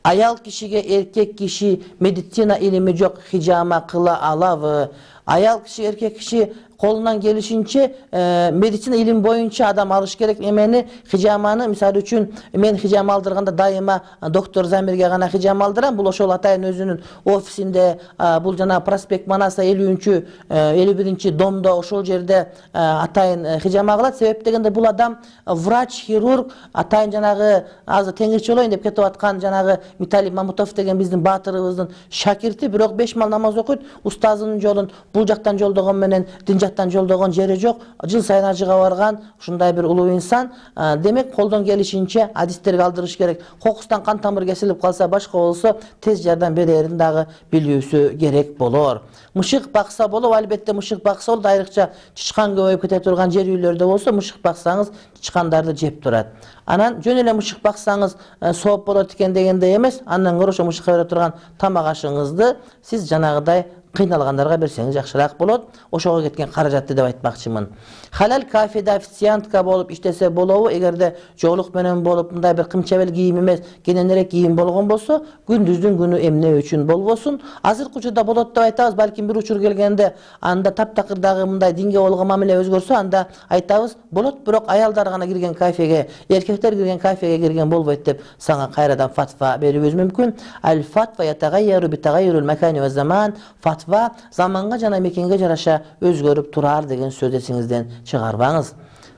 S1: Аял кишиге эркек киши медицина илими жок хижама кыла алабы? Аял киши, эркек киши колунан келишинче медицина илими боюнча адам алыш керек эмени, хижаманы. Мисалы үчүн мен хижама алдырганда дайыма доктор Замирге гана хижама алдырам. Бул ошол атайын өзүнүн офисинде, бул жана проспект Манаса элүүнчү элүү биринчи домдо ошол жерде атайын хижама кылат. Себеп дегенде бул адам врач, хирург, атайын жанагы азыр теңирчи болоюн деп кетип аткан жанагы Миталий Мамутов деген биздин баатырыбыздын шакирти, бирок беш мал намаз окуйт. Устазынын жолун бул жактан жолдогон менен дин жактан жолдогон жери жок. Жыл сайын ажыга барган ушундай бир улуу инсан. Демек колдон келишинче адистерге алдырыш керек. Кокустан кан тамыр кесилип калса, башка болсо тез жардам берерин дагы билүүсү керек болор. Мышык бакса болот, албетте мышык бакса болот. Айрыкча чычкан көбөйүп кете турган жер үйлөрдө болсо мышык баксаңыз чычкандарды жеп турат. Анан жөн эле мышык баксаңыз сооп болот экен дегендей эмес. Андан көрө ошо мышыкка бере турган тамак ашыңызды сиз жанагыдай кыйналгандарга берсеңиз жакшыраак болот. Ошого кеткен каражатты деп айтмакчымын. Халал кафеде официантка болуп иштесе болобу? Эгерде жоолук менен болуп, мындай бир кымчабел кийим эмес, кененирээк кийим болгон болсо, күндүздүн күнү эмне үчүн болбосун? Азыркы учурда болот деп айтабыз, балким бир учур келгенде анда таптакырдагы мындай динге болгон мамиле өзгөрсө, анда айтабыз, болот, бирок аялдар гана кирген кафеге, эркектер кирген кафеге кирген болбойт деп сага кайрадан фатва берүүбүз мүмкүн. Ал фатва ятагайяру би тагайюрул макани ва заман. Фатва заманга жана мекенге жараша өзгөрүп турар деген сөз эсиңизден чыгарбаңыз.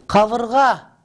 S1: Кабырга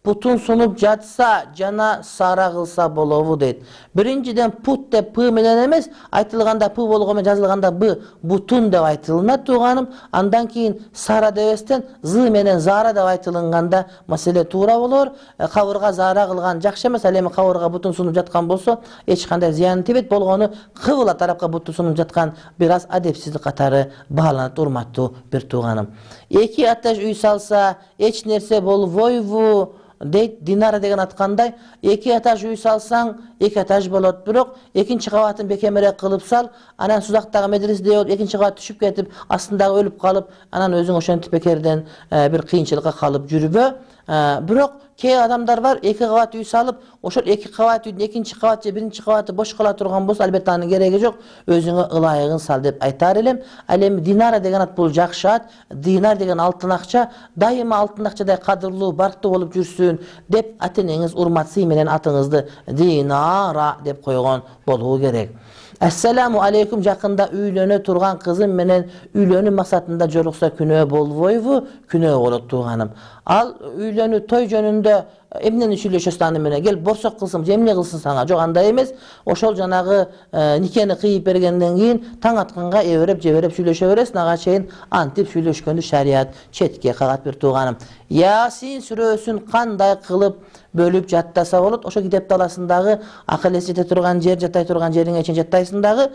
S1: путун сунуп жатса жана сара кылса болобу дейт. Биринчиден пут деп п менен эмес, айтылганда п болгону жазылганда б, бутун деп айтылынат тууганым. Андан кийин сара дебестен з менен зара деп айтылганда маселе туура болор. Кабырга зара кылган жакшы эмес, ал эми кабырга бутун сунуп жаткан болсо эч кандай зыян тийбейт. Болгону кыбыла тарапка бутун сунуп жаткан бир аз адепсиздик катары бааланат, урматтуу бир тууганым. Эки этаж үй салса эч нерсе болбойбу дейт. Динара деген аткандай, эки этаж үй салсаң эки этаж болот, бирок экинчи кабатын бекемирээк кылып сал, анан сузактагы медреседе болуп экинчи кабат түшүп кетип, астындагы өлүп калып, анан өзүң ошентип бекерден бир кыйынчылыкка калып жүрбө. Бирок кээ адамдар бар, эки кабат үй салып, ошол эки кабат үйдүн экинчи кабаты же биринчи кабаты бош кала турган болсо, албетте анын кереги жок, өзүңө ылайыгын сал деп айтар элем. Ал эми динара деген ат бул жакшы ат. Динар деген алтын акча, дайыма алтын акчадай кадырлуу, барктуу болуп жүрсүн деп ата-энеңиз урмат сый менен атыңызды Динара деп койгон болуу керек. Ассаламу алейкум, жакында үйлөнө турган кызым менен үйлөнүү максатында жолукса күнөө болбойбу? Күнөө болот тууганым. Ал үйлөнүү той жөнүндө эмнени сүйлөшөсүң аны менен? Кел борсок кылсын, эмне кылсын сага? Жок, андай эмес. Ошол жанагы никени кыйып бергенден кийин таң атканга эбереп жебереп сүйлөшө бересиң, ага чейин антип сүйлөшкөндү шарият четке кагат бир тууганым. Ясин сүрөсүн кандай кылып бөлүп жаттаса болот? Ошо китеп таласындагы акыл эс жете турган жер, жатай турган жериңе чейин жаттайсың дагы,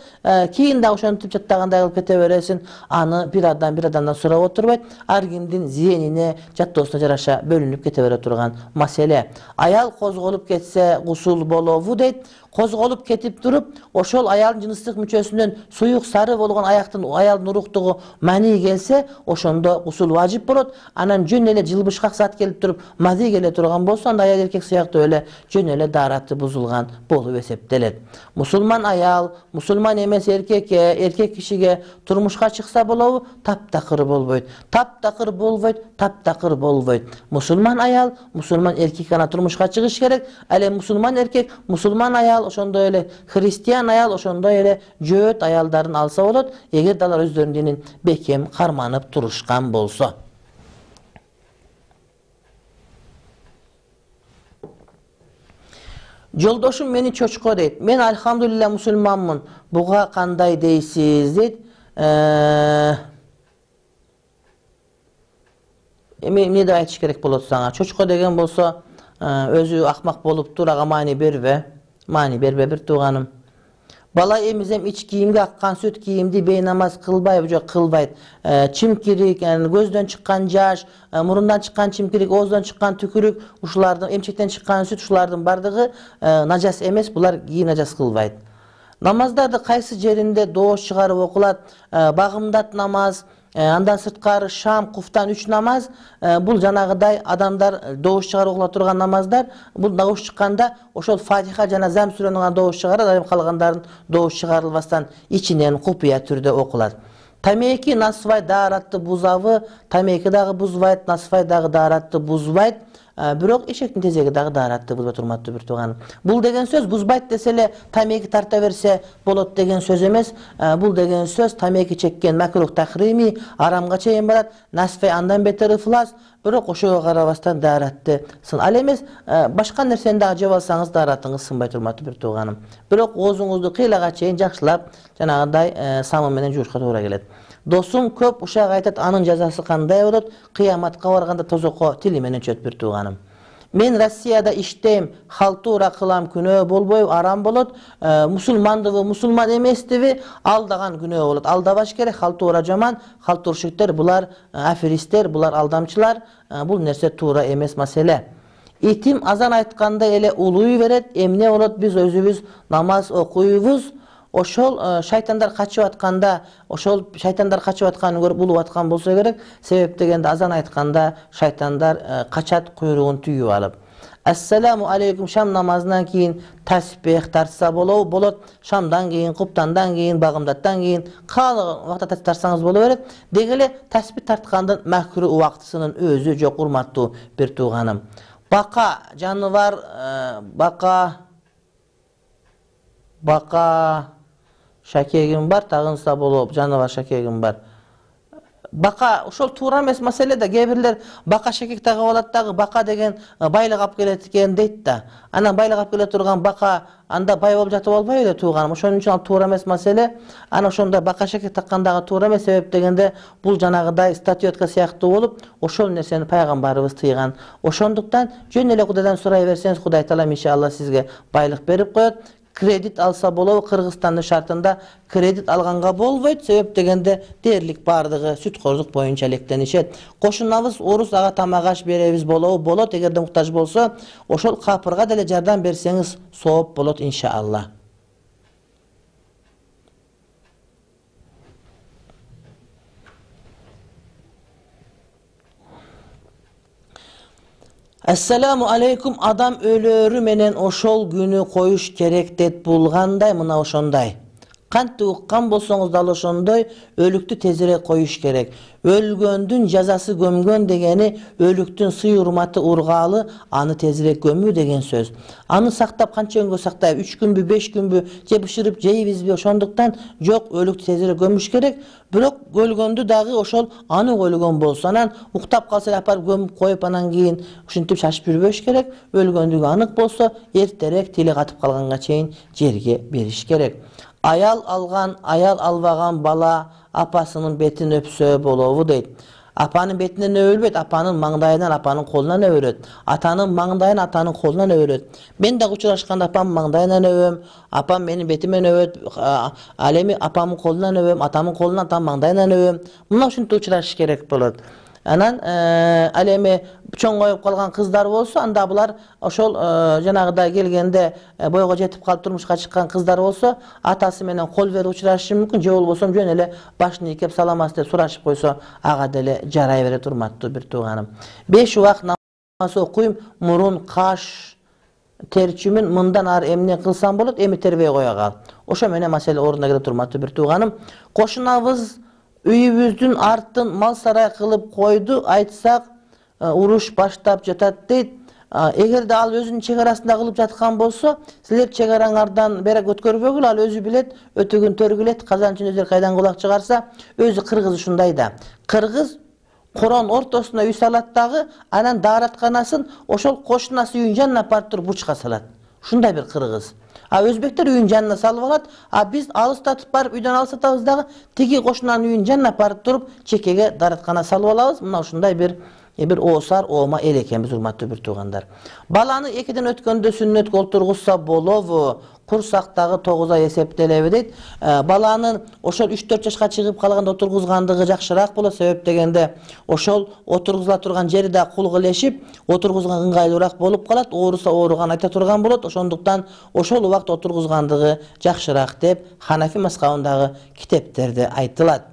S1: кийин дагы ошентип жаттагандай кылып кете бересиң. Аны бир адам бир адамдан сурап отурбайт. Ар кимдин зээнине, жаттоосуна жараша бөлүнүп кете бере турган маселе. Аял козголуп кетсе гусул болобу дейт. Козголуп кетип туруп, ошол аялдын жыныстык мүчөсүнөн суюк сары болгон аяктын аялдын уруктугу мани келсе, ошондо гусул важип болот. Анан жөн эле жылбышкак зат келип туруп, мази келе турган болсо, анда аял эркек сыяктуу эле жөн эле даараты бузулган болуп эсептелет. Мусулман аял, мусулман эмес эркекке, эркек кишиге турмушка чыкса болобу? Таптакыр болбойт. Таптакыр болбойт, таптакыр болбойт. Мусулман аял, мусулман эркек гана турмушка чыгыш керек. Ал эми мусулман эркек, мусулман аял, ошондой эле христиан аял, ошондой эле жөөт аялдарын алса болот, эгер алар өздөрүнүн динин бекем карманып турушкан болсо. Жолдошум мени чочко дейт. Мен альхамдулилля мусулманмын. Буга кандай дейсиз дейт. Эми эмне деп айтыш керек болот сага? Чочко деген болсо, өзү акмак болуптур, ага маани бербе. Маани бербе бир тууганым. Бала эмизем ич кийимге аккан сүт кийимди бейнамаз кылбайбы? Жок, кылбайт. Чимкирик, көздөн чыккан жаш, мурундан чыккан чимкирик, ооздон чыккан түкүрүк, ушулардын, эмчектен чыккан сүт, ушулардын бардыгы нажас эмес, булар кийим нажас кылбайт. Намаздарды кайсы жеринде доош чыгарып окулат? Багымдат намаз, андан сырткары шам, куфтан үч намаз, бул жанагыдай адамдар доош чыгарып окула турган намаздар. Бул доош чыкканда ошол Фатиха жана Зам сүрөнүн гана доош чыгарат, айым калгандарын доош чыгарылбастан ичинен купуя түрдө окулат. Тамеки насвай дааратты бузабы? Тамеки дагы бузбайт, насвай дагы дааратты бузбайт. Бирок эшектин тезеги дагы дааратты бузбайт, урматтуу бир тууганым. Бул деген сөз бузбайт десе эле тамеки тарта берсе болот деген сөз эмес. Бул деген сөз тамеки чеккен макрух тахрими, арамга чейин барат, насфай андан бетер ыфлас, бирок ошого карабастан дааратты сын. Ал эмес, башка нерсени дагы жеп алсаңыз дааратыңыз сынбайт, урматтуу бир тууганым. Бирок оозуңузду кыйлага чейин жакшылап жанагындай самын менен жуушка туура келет. Досум көп ушак айтат, анын жазасы кандай болот? Кыяматка барганда тозокко тили менен чөт бир тууганым. Мен Россияда иштейм, халтура кылам, күнөө болбойбу? Арам болот. Мусулмандыбы, мусулман эместиби? Алдаган күнөө болот. Алдабаш керек, халтура жаман, халтуршиктер, булар аферисттер, булар алдамчылар. Бул нерсе туура эмес маселе. Итим азан айтканда эле улуй берет, эмне болот? Биз өзүбүз намаз окуйбуз. Ошол шайтандар качып атканда, ошол шайтандар качып атканын көрүп улуп аткан болсо керек. Себеп дегенде азан айтканда шайтандар качат куйругун түйүп алып. Ассаламу алейкум, шам намазынан кийин таспих тартса болобу? Болот. Шамдан кийин, куптандан кийин, багымдаттан кийин каалаган убакта таспих тартсаңыз боло берет. Деги эле таспих тарткандын макру убактысынын өзү жок, урматтуу бир тууганым. Бака жаныбар, бака бака шакегим бар, тагынса болоп, жаныбар шакегим бар. Бака ошол туура эмес маселе да. Кээ бирлер бака шакек тагып алат дагы, бака деген байлык алып келет экен дейт да. Анан байлык алып келе турган бака анда бай болуп жатып албайбы эле тууганым? Ошон үчүн ал туура эмес маселе. Анан ошондо бака шакек таккандагы туура эмес. Себеп дегенде бул жанагыдай статуэтка сыяктуу болуп, ошол нерсени пайгамбарыбыз тыйган. Ошондуктан жөн эле Кудайдан сурай берсеңиз, Кудай таала иншалла сизге байлык берип коет. Кредит алса болобу? Кыргызстандын шартында кредит алганга болбойт. Себеп дегенде дээрлик бардыгы сүткөздүк боюнча электенишет. Кошунабыз орус, ага тамак аш беребиз болобу? Болот. Эгерде муктаж болсо, ошол капырга деле жардам берсеңиз сооп болот иншалла. Ассаламу алейкум. Адам өлөрү менен ошол күнү коюш керек деп булгандай, мына ошондой. Кантип уккан болсоңуз дал ошондой өлүктү тезирээк коюш керек. Өлгөндүн жазасы көмгөн дегени өлүктүн сый урматы ургаалы, аны тезирээк көмүү деген сөз. Аны сактап канча күнгө сактайбы? үч күнбү, беш күнбү, же бышырып жейбизби? Ошондуктан жок, өлүктү тезирээк көмүш керек. Бирок өлгөндү дагы ошол анын өлгөн болсо, анан уктап калса эле апарып көмүп коюп, анан кийин ушинтип шашып жүрбөш керек. Өлгөндүгү анык болсо, эртерээк тили катып калганга чейин жерге бериш керек. Аял алган, аял албаган бала апасынын бетин өпсө болобу дейт. Апанын бетинен өбөлбөйт, апанын маңдайынан, апанын колунан өбөлөт. Атанын маңдайын, атанын колунан өбөлөт. Мен дагы учурашканда апамдын маңдайынан өбөм, апам менин бетимен өбөт, ал эми апамдын колунан өбөм, атамдын колунан, атамдын маңдайынан өбөм. Мына ушинтип учурашыш керек болот. Анан ал эми чоңоюп калган кыздар болсо, анда булар ошол жанагыдай келгенде бойго жетип калып турмушка чыккан кыздар болсо, атасы менен кол берип учурашышы мүмкүн, же болбосо жөн эле башын ийкеп саламатсыз деп сурашып койсо, ага деле жарай берет, урматтуу бир тууганым. беш убак намаз окуйм, мурун, каш терчүмүн, мындан ары эмне кылсам болот, эми тербей кое кал. Ошо менен маселе ордуна келет, урматтуу бир тууганым. Кошунабыз үйүбүздүн артын мал сарай кылып койду, айтсак уруш баштап жатат дейт. Эгерде ал өзүнүн чек арасында кылып жаткан болсо, силер чек араңардан берек өткөрбөгүлө, ал өзү билет, өтөгүн төргүлет, казанчын өзү кайдан кулак чыгарса, өзү кыргыз ушундай да. Кыргыз корон ортосуна үй салат дагы, анан дааратканасын ошол кошунасы үйүнүн жанына апарып туруп бучка салат. Ушундай бир кыргыз. А өзбектер үйүнүн жанына салып алат, а биз алыстатып барып үйдөн алыстатабыз дагы, тиги кошунанын үйүнүн жанына апарып туруп чекеге даараткана салып алабыз. Мына ушундай бир бир оосар, оома эл экенбиз, урматтуу бир туугандар. Баланы экиден өткөндө сүннөткө олтургузса болобу? Курсактагы тогуз ай эсептелеби дейт. Баланын ошол үч төрт жашка чыгып калганда отургузгандыгы жакшыраак болот, себеп дегенде ошол отургузула турган жери да кулгулешип, отургузганга ыңгайлуураак болуп калат, ооруса ооруган айта турган болот. Ошондуктан ошол убакта отургузгандыгы жакшыраак деп Ханафи мазхабындагы китептерде айтылат.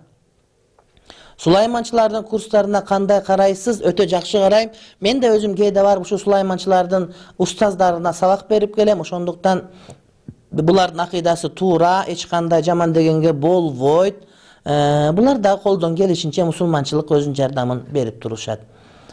S1: Сулайманчылардын курстарына кандай карайсыз? Өтө жакшы карайм. Мен да өзүм кээде барып ушу сулайманчылардын устаздарына сабак берип келем. Ошондуктан булардын акыйдасы туура, эч кандай жаман дегенге болбойт. Булар да колдон келишинче мусулманчылык өзүнүн жардамын берип турушат.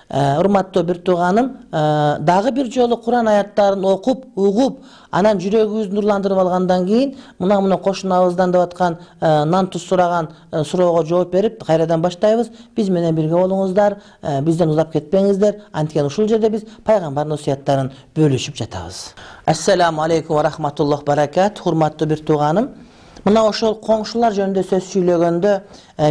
S1: Урматтуу бир тууганым, дагы бир жолу Куран аяттарын окуп, угуп, анан жүрөгүбүздү нурландырып алгандан кийин, мына мына кошунабыздан деп аткан нан туз сураган суроого жооп берип, кайрадан баштайбыз. Биз менен бирге болуңуздар, бизден узап кетпеңиздер. Анткени ушул жерде биз пайгамбардын осуяттарын бөлүшүп жатабыз. Ассаламу алейкум ва рахматуллах баракат. Урматтуу бир тууганым, мына ошол коңшулар жөнүндө сөз сүйлөгөндө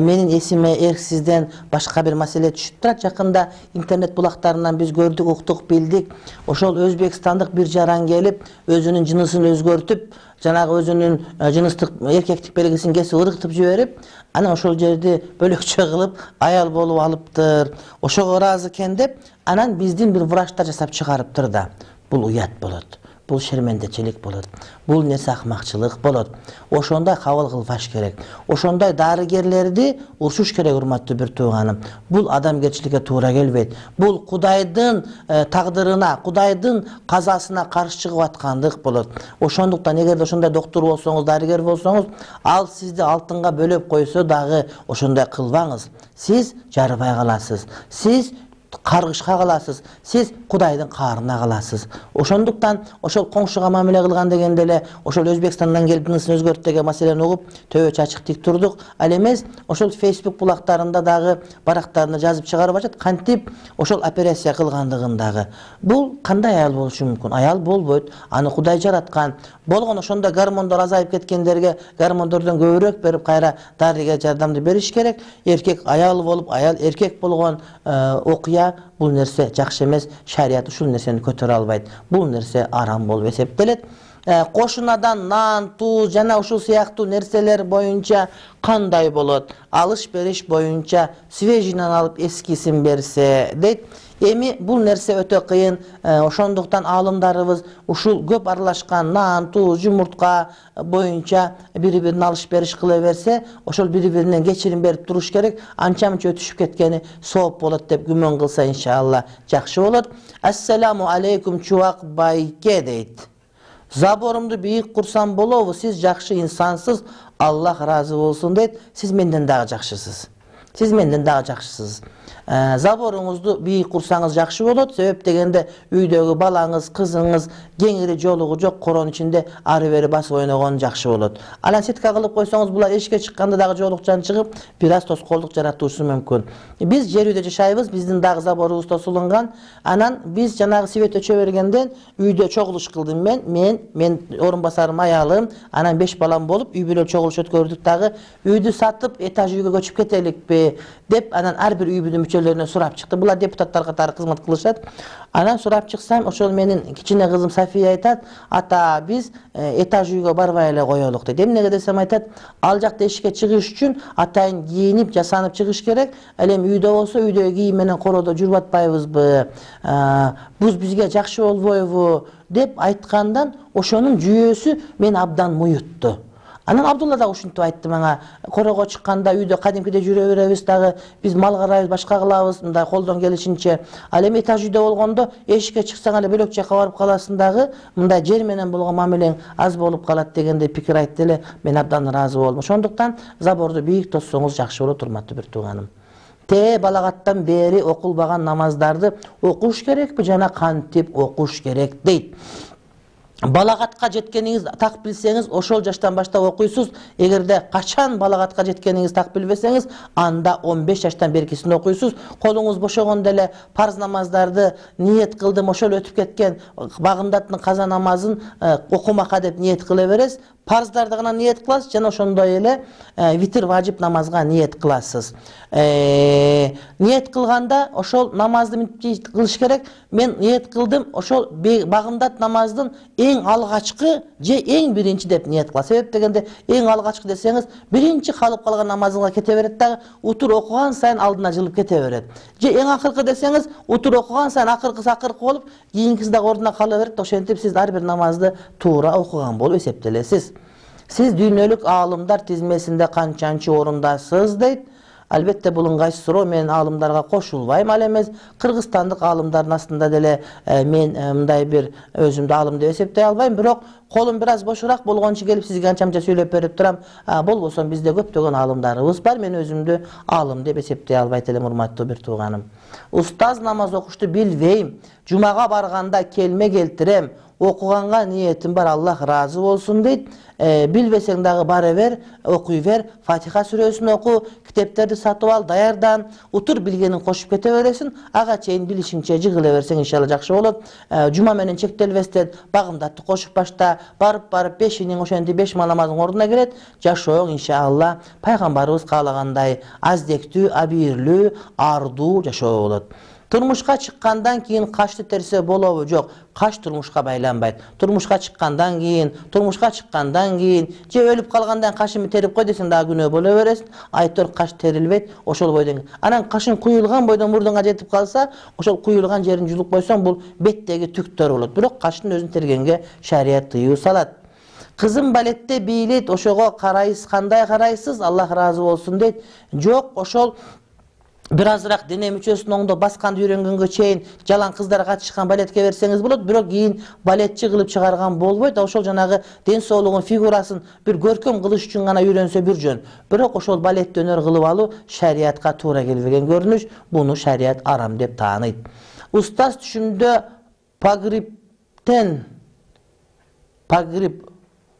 S1: менин эсиме эрксизден башка бир маселе түшүп турат. Жакында интернет булактарынан биз көрдүк, уктук, билдик. Ошол өзбекстандык бир жаран келип, өзүнүн жынысын өзгөртүп, жанагы өзүнүн жыныстык эркектик белгисин кесип ыргытып жиберип, анан ошол жерди бөлөкчө кылып аял болуп алыптыр. Ошого ыраазы экен деп, анан биздин бир врачтар жасап чыгарыптыр да. Бул уят болот. Бул шермендечилик болот. Бул нерсе акмакчылык болот. Ошондой кабыл кылбаш керек. Ошондой дарыгерлерди урушуш керек, урматтуу бир тууганым. Бул адамгерчиликке туура келбейт. Бул Кудайдын тагдырына, Кудайдын казасына каршы чыгып аткандык болот. Ошондуктан эгерде ошондой доктор болсоңуз, дарыгер болсоңуз, ал сизди алтынга бөлөп койсо дагы ошондой кылбаңыз. Сиз жарыбай каласыз. Сиз каргышка каласыз, сиз Кудайдын каарына каласыз. Ошондуктан ошол коңшуга мамиле кылган дегенде эле ошол Өзбекстандан келип жынысын өзгөртүп деген маселени угуп төбө чачык тик турдук. Ал эмес ошол Facebook булактарында дагы барактарына жазып чыгарып атат, кантип ошол операция кылгандыгын дагы. Бул кандай аял болушу мүмкүн? Аял болбойт. Аны Кудай жараткан. Болгон ошондо гормондор азайып кеткендерге гормондордон көбүрөөк берип кайра дарыга жардамды бериш керек. Эркек аял болуп, аял эркек болгон окуя, бул нерсе жакшы эмес. Шарият ушул нерсени көтөрө албайт. Бул нерсе арам болуп эсептелет. кошунадан нан, туз жана ушул сыяктуу нерселер боюнча кандай болот? Алыш бериш боюнча свежийнен алып эскисин берсе дейт. Эми бул нерсе өтө кыйын. Ошондуктан аалымдарыбыз ушул көп аралашкан нан, туз, жумуртка боюнча бири-бирин алыш бериш кыла берсе, ошол бири-биринен кечирим берип туруш керек. Анча-мынча өтүшүп кеткени сооп болот деп күмөн кылса иншалла жакшы болот. Ассаламу алейкум чубак байке дейт. Заборумду бийик курсам болобу? Сиз жакшы инсансыз. Аллах разы болсун дейт. Сиз менден дагы жакшысыз. Сиз менден дагы жакшысыз. Заборуңузду бийик курсаңыз жакшы болот. Себеп дегенде үйдөгү балаңыз, кызыңыз кеңири жолугу жок коронун ичинде ары бери басып ойногон жакшы болот. Анан сетка кылып койсоңуз булар эшикке чыкканда дагы жолукчан чыгып, бир аз тоскоолдук жаратушу мүмкүн. Биз жер үйдө жашайбыз, биздин дагы заборубуз тосулунган. Анан биз жанагы свет өчө бергенден үйдө чогулуш кылдым мен, мен, мен орун басарым, аялым, анан беш балам болуп үй бүлө чогулуш өткөрдүк дагы. Үйдү сатып, этаж үйгө көчүп кетеликпи деп анан ар бир үй бүлө мүчөлөрүнө сурап чыкты. Булар депутаттар катары кызмат кылышат. Анан сурап чыксам, ошол менин кичине кызым София айтат, ата биз этаж үйгө барбай эле коелук дейт. Эмнеге десем айтат, ал жакта эшикке чыгыш үчүн атайын кийинип, жасанып чыгыш керек. Ал эми үйдө болсо үйдөгү кийим менен короодо жүрүп атпайбызбы? Бул бизге жакшы болбойбу деп айткандан ошонун жүйөсү мен абдан муютту. Анан Абдулла да ушинтип айтты мага, корого чыкканда үйдө кадимкидей жүрө беребиз дагы, биз мал карайбыз, башка кылабыз, мындай колдон келишинче. Ал эми этаж үйдө болгондо эшикке чыксаң эле бөлөк жакка барып каласың дагы, мындай жер менен болгон мамилең аз болуп калат дегендей пикир айтты эле. Мен абдан ыраазы болдум. Ошондуктан заборду бийик тоссоңуз жакшы болот, урматтуу бир тууганым. Те балагаттан бери окулбаган намаздарды окуш керекпи жана кантип окуш керек дейт. Балагатка жеткениңиз так билсеңиз, ошол жаштан баштап окуйсуз. Эгерде качан балагатка жеткениңиз так билбесеңиз, анда он беш жаштан беркисин окуйсуз. Колуңуз бошогондо эле парз намаздарды ниет кылдым, ошол өтүп кеткен багымдаттын каза намазын окумакка деп ниет кыла бересиз. Парздарды гана ниет кыласыз жана ошондой эле витр важип намазга ниет кыласыз. Ниет кылганда ошол намазды мынтип кылыш керек. Мен ниет кылдым, ошол багымдат намаздын эң алгачкы же эң биринчи деп ниет кыласыз. Себеп дегенде эң алгачкы десеңиз, биринчи калып калган намазыңызга кете берет дагы, утур окуган сайын алдына жылып кете берет. Же эң акыркы десеңиз, утур окуган сайын акыркысы акыркы болуп, кийинкиси дагы ордуна кала берет. Ошентип сиз ар бир намазды туура окуган болуп эсептелесиз. Сиз дүйнөлүк аалымдар тизмесинде канчанчы орундасыз дейт. Албетте бул ыңгайсыз суроо, мен аалымдарга кошулбайм. Ал эмес кыргызстандык аалымдардын астында деле мен мындай бир өзүмдү аалым деп эсептей албайм, бирок колум бир аз бошураак болгончу келип сизге анча-мынча сөйлөп берип турам. Болбосо бизде көптөгөн аалымдарыбыз бар. Мен өзүмдү аалым деп эсептей албайт элем, урматтуу бир тууганым. Устаз намаз окушту билбейм. Жумага барганда келме келтирем. Окуганга ниетим бар, Аллах разы болсун дейт. Билбесең дагы бара бер, окуй бер, Фатиха сүрөсүн оку, китептерди сатып ал, даярдан, утур билгенин кошуп кете бересиң, ага чейин билишиңче жыгыла берсең иншалла жакшы болот. Жума менен чектелбестен багымдатты кошуп башта, барып-барып бешиниң ошентип беш намазың ордуна келет, жашооң иншалла пайгамбарыбыз каалагандай аздектүү, абийирлүү, ардуу жашоо болот. Турмушка чыккандан кийин кашты терсе болобу? Жок, каш турмушка байланбайт. Турмушка чыккандан кийин, турмушка чыккандан кийин, же өлүп калгандан кашымды терип кой десең дагы күнөө боло бересиң. Айтор каш терилбейт, ошол бойдон. Анан кашың куюлган бойдон мурдуңа жетип калса, ошол куюлган жерин жулуп койсоң, бул беттеги түктөр болот. Бирок каштын өзүн тергенге шарият тыюу салат. Кызым балетте бийлейт, ошого карайсыз, кандай карайсыз? Аллах разы болсун дейт. Жок, ошол бир азыраак дене мүчөсүн оңдоп басканды үйрөнгөнгө чейин жалаң кыздар катышкан балетке берсеңиз болот, бирок кийин балетчи кылып чыгарган болбойт. Ошол жанагы ден соолугун, фигурасын бир көркөм кылыш үчүн гана үйрөнсө бир жөн. Бирок ошол балетти өнөр кылып алуу шариатка туура келбеген көрүнүш, буну шариат арам деп тааныйт. Устаз түшүмдө пагриптен пагрип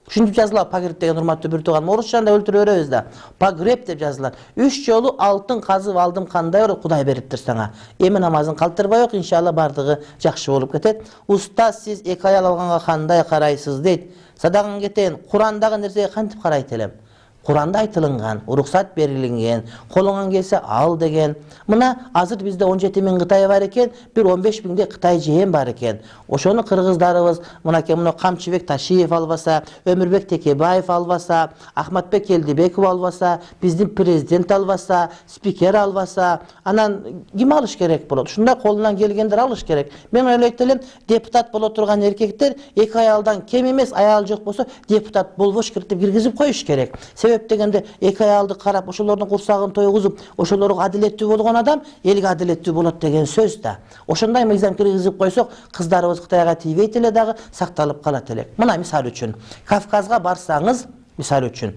S1: Ушинтип жазылат пагреб деген, урматтуу бир тууганым. Орусчанда өлтүрө беребиз да. Пагреб деп жазылат. Үч жолу алтын казып алдым, кандай болот? Кудай бериптир сага. Эми намазын калтырбай ок, иншалла бардыгы жакшы болуп кетет. Устаз, сиз эки аял алганга кандай карайсыз дейт. Садаган кетейин. Курандагы нерсеге кантип карайт элем? Куранда айтылган, уруксат берилген, колуңан келсе ал деген. Мына азыр бизде он жети миң Кытай бар экен, бир он беш миңдей Кытай жээн бар экен. Ошону кыргыздарыбыз мынакей мына Камчыбек Ташиев албаса, Өмүрбек Текебаев албаса, Ахматбек Келдибеков албаса, биздин президент албаса, спикер албаса, анан ким алыш керек болот? Ушундай колунан келгендер алыш керек. Мен ойлойт элем, депутат боло турган эркектер эки аялдан кем эмес, аял жок болсо депутат болбош керек деп киргизип коюш керек. Себеп дегенде эки аялды карап, ошолордун курсагын тойгузуп, ошолорго адилеттүү болгон адам элге адилеттүү болот деген сөз да. Ошондой мыйзам киргизип койсок, кыздарыбыз Кытайга тийбейт эле дагы, сакталып калат элек. Мына мисал үчүн, Кавказга барсаңыз, мисал үчүн,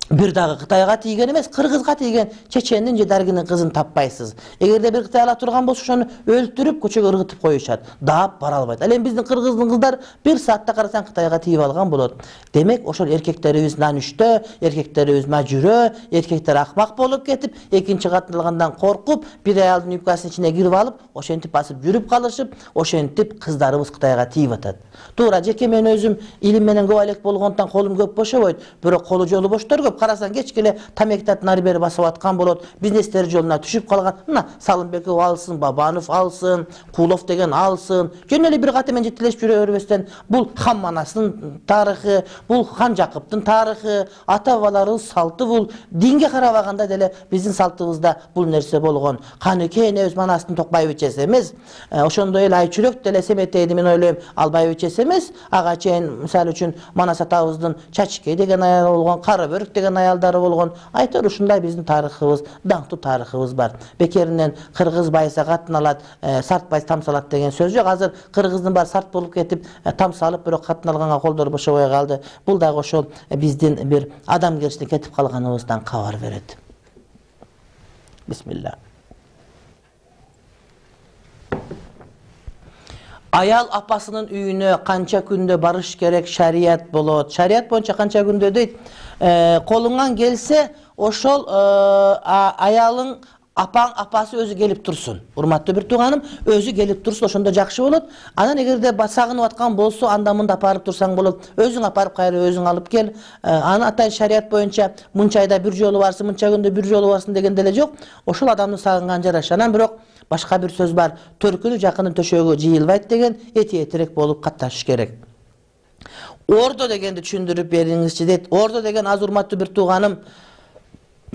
S1: бир дагы Кытайга тийген эмес, кыргызга тийген чечендин же даргинин кызын таппайсыз. Эгерде бир Кытай ала турган болсо, ошону өлтүрүп көчөгө ыргытып коюшат. Даап бара албайт. Ал эми биздин кыргыздын кыздары бир саатта карасаң Кытайга тийип алган болот. Демек, ошол эркектерибиз нанүштө, эркектерибиз мажүрө, эркектер акмак болуп кетип, экинчи катын алгандан коркуп, бир аялдын юбкасынын ичине кирип алып, ошентип басып жүрүп калышып, ошентип кыздарыбыз Кытайга тийип атат. Туура, жеке мен өзүм илим менен көп элек болгондон колум көп бошобойт, бирок колу жолу боштор көп. Карасаң кечкеле тамектат нары бери басып аткан болот, бизнестер жолуна түшүп калган. Мына Салымбеков алсын, Бабанов алсын, Кулов деген алсын. Жөн эле бир каты менен жетелешип жүрө бербестен, бул Хамманастын тарыхы, бул Хан Жакыптын тарыхы, ата бабаларыбыз салты бул. Динге карабаганда деле биздин салтыбызда бул нерсе болгон. Канеке энебиз Манастын Токбаевич эмес, ошондой эле Айчүрөк деле Семетейди мен ойлойм Албаевич эмес, ага чейин мисалы үчүн Манас атабыздын Чачкей деген аялы болгон, Карабөрүк деген аялдары болгон. Айтор ушундай биздин тарыхыбыз, даңктуу тарыхыбыз бар. Бекеринен кыргыз байса катын алат, сарт байса там салат деген сөз жок. Азыр кыргыздын баары сарт болуп кетип, там салып бирок катын алганга колдору бошобой калды. Бул дагы ошол биздин бир адамгерчиликтен кетип калганыбыздан кабар берет. Бисмилла. Аял апасынын үйүнө канча күндө барыш керек, шарият болот. Шарият боюнча канча күндө дейт? Колуңан келсе, ошол аялың апаң апасы өзү келип турсун. Урматтуу бир тууганым, өзү келип турсун, ошондо жакшы болот. Анан эгерде сагынып аткан болсо, анда мында апарып турсаң болот. Өзүң апарып кайра өзүң алып кел. Анын атайын шарият боюнча мынча айда бир жолу барсын, мынча күндө бир жолу барсын деген деле жок. Ошол адамдын сагынган жараша. Анан бирок башка бир сөз бар. Төркүнү жакынын төшөгү жыйылбайт деген, эти этирээк болуп катташыш керек. Ордо дегенди түшүндүрүп бериңизчи дейт. Ордо деген аз урматтуу бир тууганым,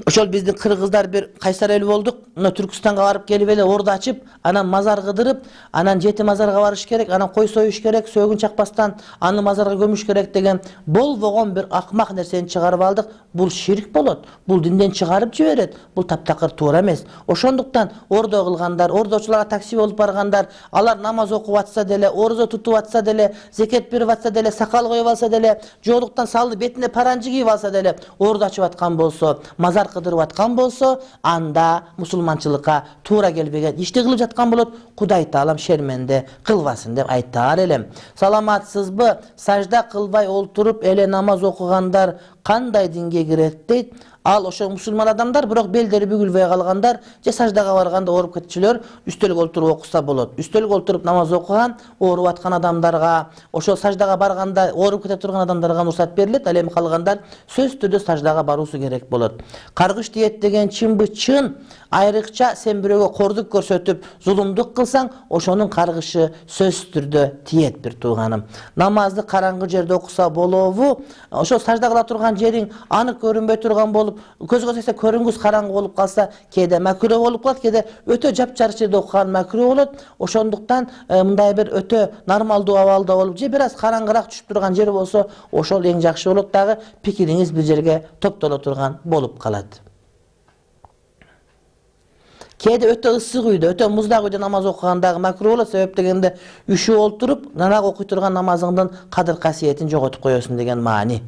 S1: ошол биздин кыргыздар бир кайсар эл болдук. Мына Түркүстанга барып келип эле ордо ачып, анан мазар кыдырып, анан жети мазарга барыш керек, анан кой союш керек, сөөгүн чакпастан аны мазарга көмүш керек деген болбогон бир акмак нерсени чыгарып алдык. Бул ширк болот. Бул динден чыгарып жиберет. Бул таптакыр туура эмес. Ошондуктан ордо кылгандар, ордочуларга такси болуп баргандар, алар намаз окуп атса деле, орзо тутуп атса деле, зекет берип атса деле, сакал коюп алса деле, жоолуктан салды бетине паранжы кийип алса деле, ордо ачып аткан болсо, мазар кыдырып аткан болсо, анда мусулманчылыкка туура келбеген ишти кылып жаткан болот. Кудай таалам шерменде кылбасын деп айтаар элем. Саламатсызбы? Сажда кылбай олтуруп эле намаз окугандар кандай динге кирет дейт. Ал ошо мусулман адамдар, бирок белдери бүгүлбөй калгандар, же саждага барганда ооруп кетчүлөр үстөлгө олтуруп окуса болот. Үстөлгө олтуруп намаз окуган, ооруп аткан адамдарга, ошо саждага барганда ооруп кете турган адамдарга уруксат берилет. Ал эми калгандар сөзсүз түрдө саждага баруусу керек болот. Каргыш диет деген чынбы чын. Айрыкча сен бирөөгө кордук көрсөтүп, зулумдук кылсаң, ошонун каргышы сөзсүз түрдө тиет бир тууганым. Намазды караңгы жерде окуса болобу? Ошо сажда кыла турган жериң анык көрүнбөй турган болуп, көзгө сексе көрүнгүс караңгы болуп калса, кээде макруh болуп калат, кээде өтө жапжарык жерде окуган макруh болот. Ошондуктан мындай бир өтө нормалдуу абалда болуп, же бир аз караңгыраак түшүп турган жер болсо, ошол эң жакшы болот. Дагы пикириңиз бир жерге топтоло турган болуп калат. Кээде өтө ысык үйдө, өтө муздак үйдө намаз окугандагы макруh болот. Себеп дегенде үшүп олтуруп, нанак окуй турган намазыңдын кадыр касиетин жоготуп коесуң деген маани.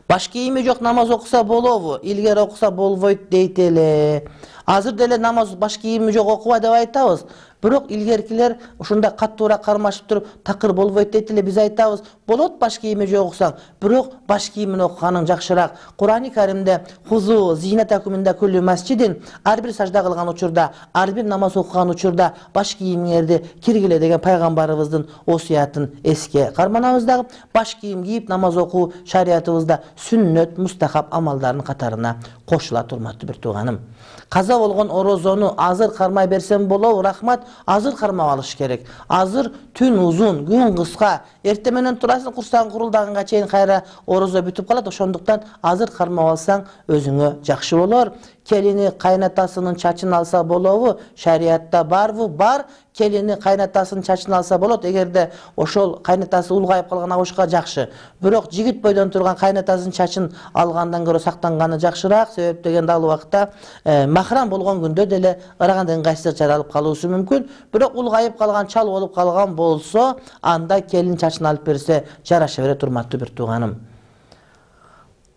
S1: Баш кийими жок намаз окуса болобу? Илгери окуса болбойт дейт эле. Азыр деле намаз баш кийими жок окуба деп айтабыз. Бирок илгеркилер ушундай каттуураак кармашып туруп такыр болбойт дейт эле. Биз айтабыз, болот баш кийими жок окусаң, бирок баш кийимин окуганың жакшыраак. Кур'ани Каримде хузу зинатакум инда кулли масжидин, ар бир сажда кылган учурда, ар бир намаз окуган учурда баш кийимиңерди киргиле деген пайгамбарыбыздын осуятын эске карманабыз дагы. Баш кийим кийип намаз окуу шариятыбызда сүннөт, мустахаб амалдардын катарына кошулат, урматтуу бир тууганым. Каза болгон орозону азыр кармай берсем болобу, рахмат, азыр кармап алыш керек. Азыр түн узун, күн кыска, эртең менен турасың, курсаң курулдаганга чейин кайра орозо бүтүп калат. Ошондуктан азыр кармап алсаң өзүңө жакшы болор. Келини кайнатасынын чачын алса болобу? Шариятта барбы? Бар. Келини кайнатасынын чачын алса болот. Эгерде ошол кайнатасы улгайып калган абышка жакшы. Бирок жигит бойдон турган кайнатасынын чачын алгандан көрө сактанганы жакшыраак. Себеп дегенде ал убакта махрам болгон күндө деле ыраганда ыңгайсыздык жаралып калуусу мүмкүн. Бирок улгайып калган, чал болуп калган болсо, анда келин чачын алып берсе жараша берет, урматтуу бир тууганым.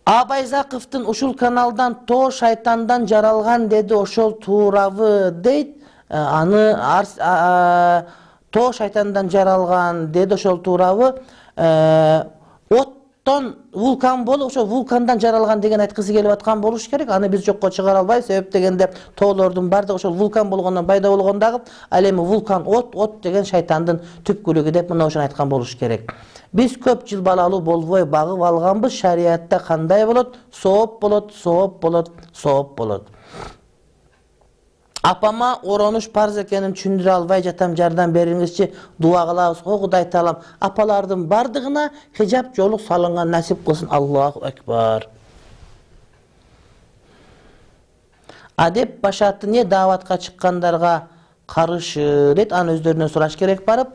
S1: Абайзаковдун ушул каналдан тоо шайтандан жаралган деди, ошол туурабы дейт. Аны тоо шайтандан жаралган деди, ошол туурабы? Оттон вулкан болуп, ошол вулкандан жаралган деген айткысы келип аткан болуш керек. Аны биз жокко чыгара албайбыз. Себеп дегенде тоолордун бардыгы ошол вулкан болгондон пайда болгон дагы. Ал эми вулкан от, от деген шайтандын түпкүлүгү деп мына ошону айткан болуш керек. Биз көп жыл балалуу болбой багып алганбыз. Шариятта кандай болот? Сооп болот, сооп болот, сооп болот. Апама оронуш парз экенин түшүндүрө албай жатам, жардам бериңизчи, дуа кылабыз. О Кудай таалам апалардын бардыгына хижап жолук салынган насип кылсын. Аллаху акбар. Адеп башаты не дааватка чыккандарга каршы дейт, аны өздөрүнөн сураш керек барып.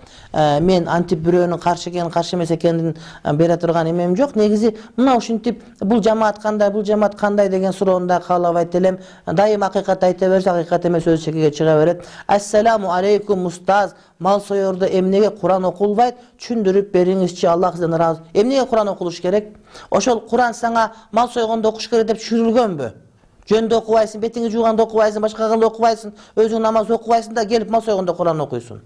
S1: Мен антип бирөөнүн каршы экенин, каршы эмес экенин бере турган эмем жок. Негизи мына ушинтип бул жамаат кандай, бул жамаат кандай деген суроону да каалабайт элем. Дайым акыйкат айта берсе, акыйкат эмес өзү чекеге чыга берет. Ассаламу алейкум устаз, мал соёрдо эмнеге Куран окулбайт? Түшүндүрүп бериңизчи, Аллах сизден ыраазы. Эмнеге Куран окулуш керек? Ошол Куран сага мал сойгондо окуш керек деп түшүрүлгөнбү? Жөндө окубайсың, бетиңи жууганда окубайсың, башка кылганда окубайсың, өзүң намаз окубайсың да келип мал сойгондо Куран окуйсуң.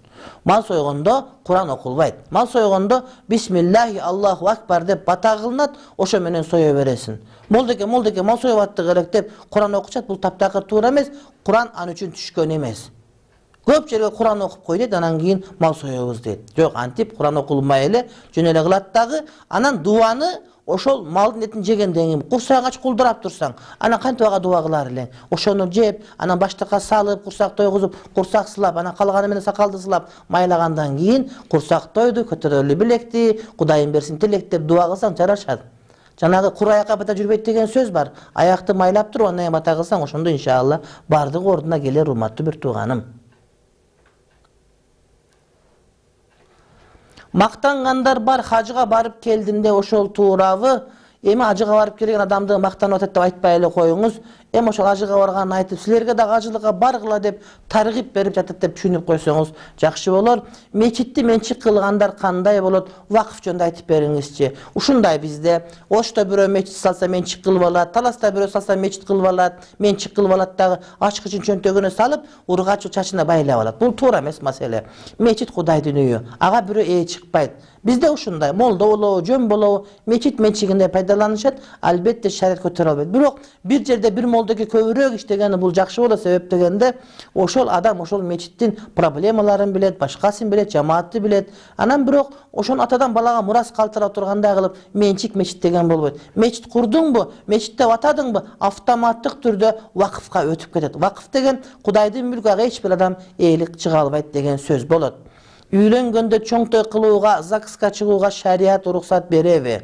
S1: Мал сойгондо Куран окулбайт. Мал сойгондо бисмиллахи Аллаху акбар деп бата кылынат, ошо менен сое бересиң. Молдеке, молдеке мал союп аттык элек деп Куран окучат, бул таптакыр туура эмес. Куран аны үчүн түшкөн эмес. Көп жерге Куран окуп кой дейт, анан кийин мал соёбуз дейт. Жок, антип Куран окулмай эле жөн эле кылат дагы. Анан дуаны ошол малдын этин жегенден кийин курсагың ач кулдурап турсаң, анан кантип ага дуа кылар элең? Ошону жеп, анан баштыкка салып, курсак тойгузуп, курсак сылап, анан калганы менен сакалды сылап, майлагандан кийин курсак тойду, көтөрөлү билекти, Кудайым берсин тилекти деп дуа кылсаң жарашат. Жанагы кур аякка бата жүрбөйт деген сөз бар. Аякты майлап туруп, андан бата кылсаң, ошондо иншалла бардыгы ордуна келер, урматтуу бир тууганым. Мактангандар бар, хажыга барып келдим де, ошол туурабы? Эми ажыга барып келген адамды мактанып атат деп айтпай эле коюңуз. Эми ошол ажыга барганын айтып, силерге да ажылыкка баргыла деп таргип берип жатат деп түшүнүп койсоңуз жакшы болор. Мечитти менчик кылгандар кандай болот? Вакыф жөнүндө айтып бериңизчи. Ушундай бизде Ошто бирөө мечит салса менчик кылып алат, Таласта бирөө салса мечит кылып алат, менчик кылып алат дагы ачкычын чөнтөгүнө салып, ургач чачына байлап алат. Бул туура эмес маселе. Мечит Кудайдын үйү. Ага бирөө ээ чыкпайт. Бизде ушундай молдо болобу, жөн болобу, мечит менчигинде пайдаланышат, албетте шарият көтөрө албайт. Бирок бир жерде бир молдоге көбүрөөк иштегени бул жакшы болот. Себеп дегенде ошол адам ошол мечиттин проблемаларын билет, башкасын билет, жамаатты билет. Анан бирок ошону атадан балага мурас калтыра тургандай кылып менчик мечит деген болбойт. Мечит курдуңбу, мечитте атадыңбы, автоматтык түрдө вакыфка өтүп кетет. Вакыф деген Кудайдын мүлкү, ага эч бир адам ээлик чыга албайт деген сөз болот. Үйлөнгөндө чоң той кылууга, ЗАГСка чыгууга шарият уруксат береби?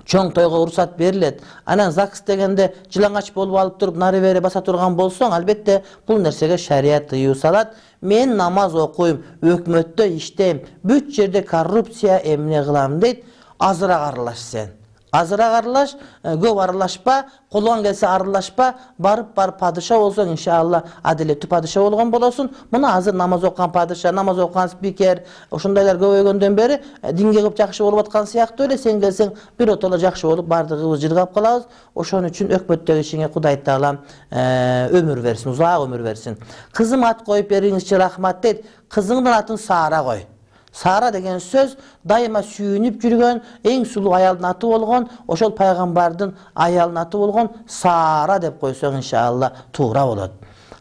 S1: Чоң тойго уруксат берилет. Анан ЗАГС дегенде жылаңач болуп алып туруп нары бери баса турган болсоң, албетте бул нерсеге шарият тыюу салат. Мен намаз окуйм, өкмөттө иштейм, бүт жерде коррупция эмне кылам дейт. Азыраак аралаш сен. Азыраак аралаш, көп аралашпа, колуңан келсе аралашпа, барып барып падыша болсоң, иншалла адилеттүү падыша болгон болосуң. Мына азыр намаз окуган падыша, намаз окуган спикер, ошондойлор көбөйгөндөн бери динге көп жакшы болуп аткан сыяктуу эле. Сен келсең биротоло жакшы болуп бардыгыбыз жыргап калабыз. Ошон үчүн өкмөттөгү ишиңе Кудай Таалам өмүр берсин, узак өмүр берсин. Кызым ат коюп бериңизчи рахмат дейт. Кызыңдын атын Сара кой. Сара деген сөз дайыма сүйүнүп жүргөн, эң сулуу аялдын аты болгон, ошол пайгамбардын аялынын аты болгон Сара деп койсоң иншалла туура болот.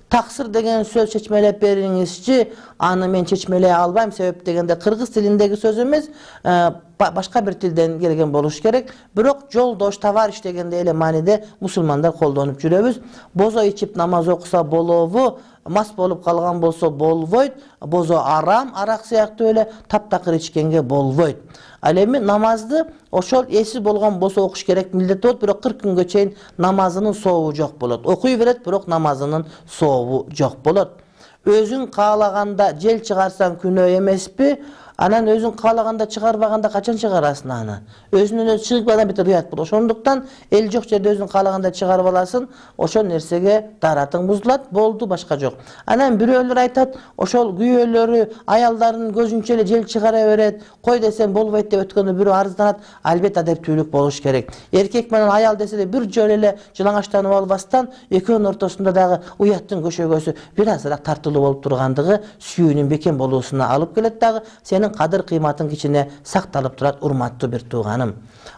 S1: Таксыр деген сөз чечмелеп бериңизчи, аны мен чечмелей албайм, себеп дегенде кыргыз тилиндеги сөз эмес, башка бир тилден келген болуш керек. Бирок жолдош, товарищ дегенде эле мааниде мусулмандар колдонуп жүрөбүз. Бозо ичип намаз окуса болобу, мас болуп калган болсо болбойт, бозо арам, арак сыяктуу эле таптакыр ичкенге болбойт. Ал эми намазды ошол эси болгон болсо окуш керек, милдет болот, бирок кырк күнгө чейин намазынын сообу жок болот. Окуй берет, бирок намазынын сообу жок болот. Өзүң каалаганда жел чыгарсаң күнөө эмеспи? Анан өзүң каалаганда чыгарбаганда качан чыгарасың аны? Өзүнөн өзү чыгып бир уят болот. Ошондуктан эл жок жерде өзүң каалаганда чыгарып аласың, ошол нерсеге даратың бузулат, болду, башка жок. Анан бирөөлөр айтат, ошол күйөөлөрү аялдардын көзүнчө эле жел чыгара берет, кой десем болбойт деп өткөндө бирөө арызданат. Албетте адептүүлүк болуш керек. Эркек менен аял десе эле бир жолу эле жылаңачтанып албастан, экөөнүн ортосунда дагы уяттын көшөгөсү бир азыраак тартылуу болуп тургандыгы сүйүүнүн бекем болуусуна алып келет дагы. Сенин кадыр кыйматың кичине сакталып турат, урматтуу бир тууганым.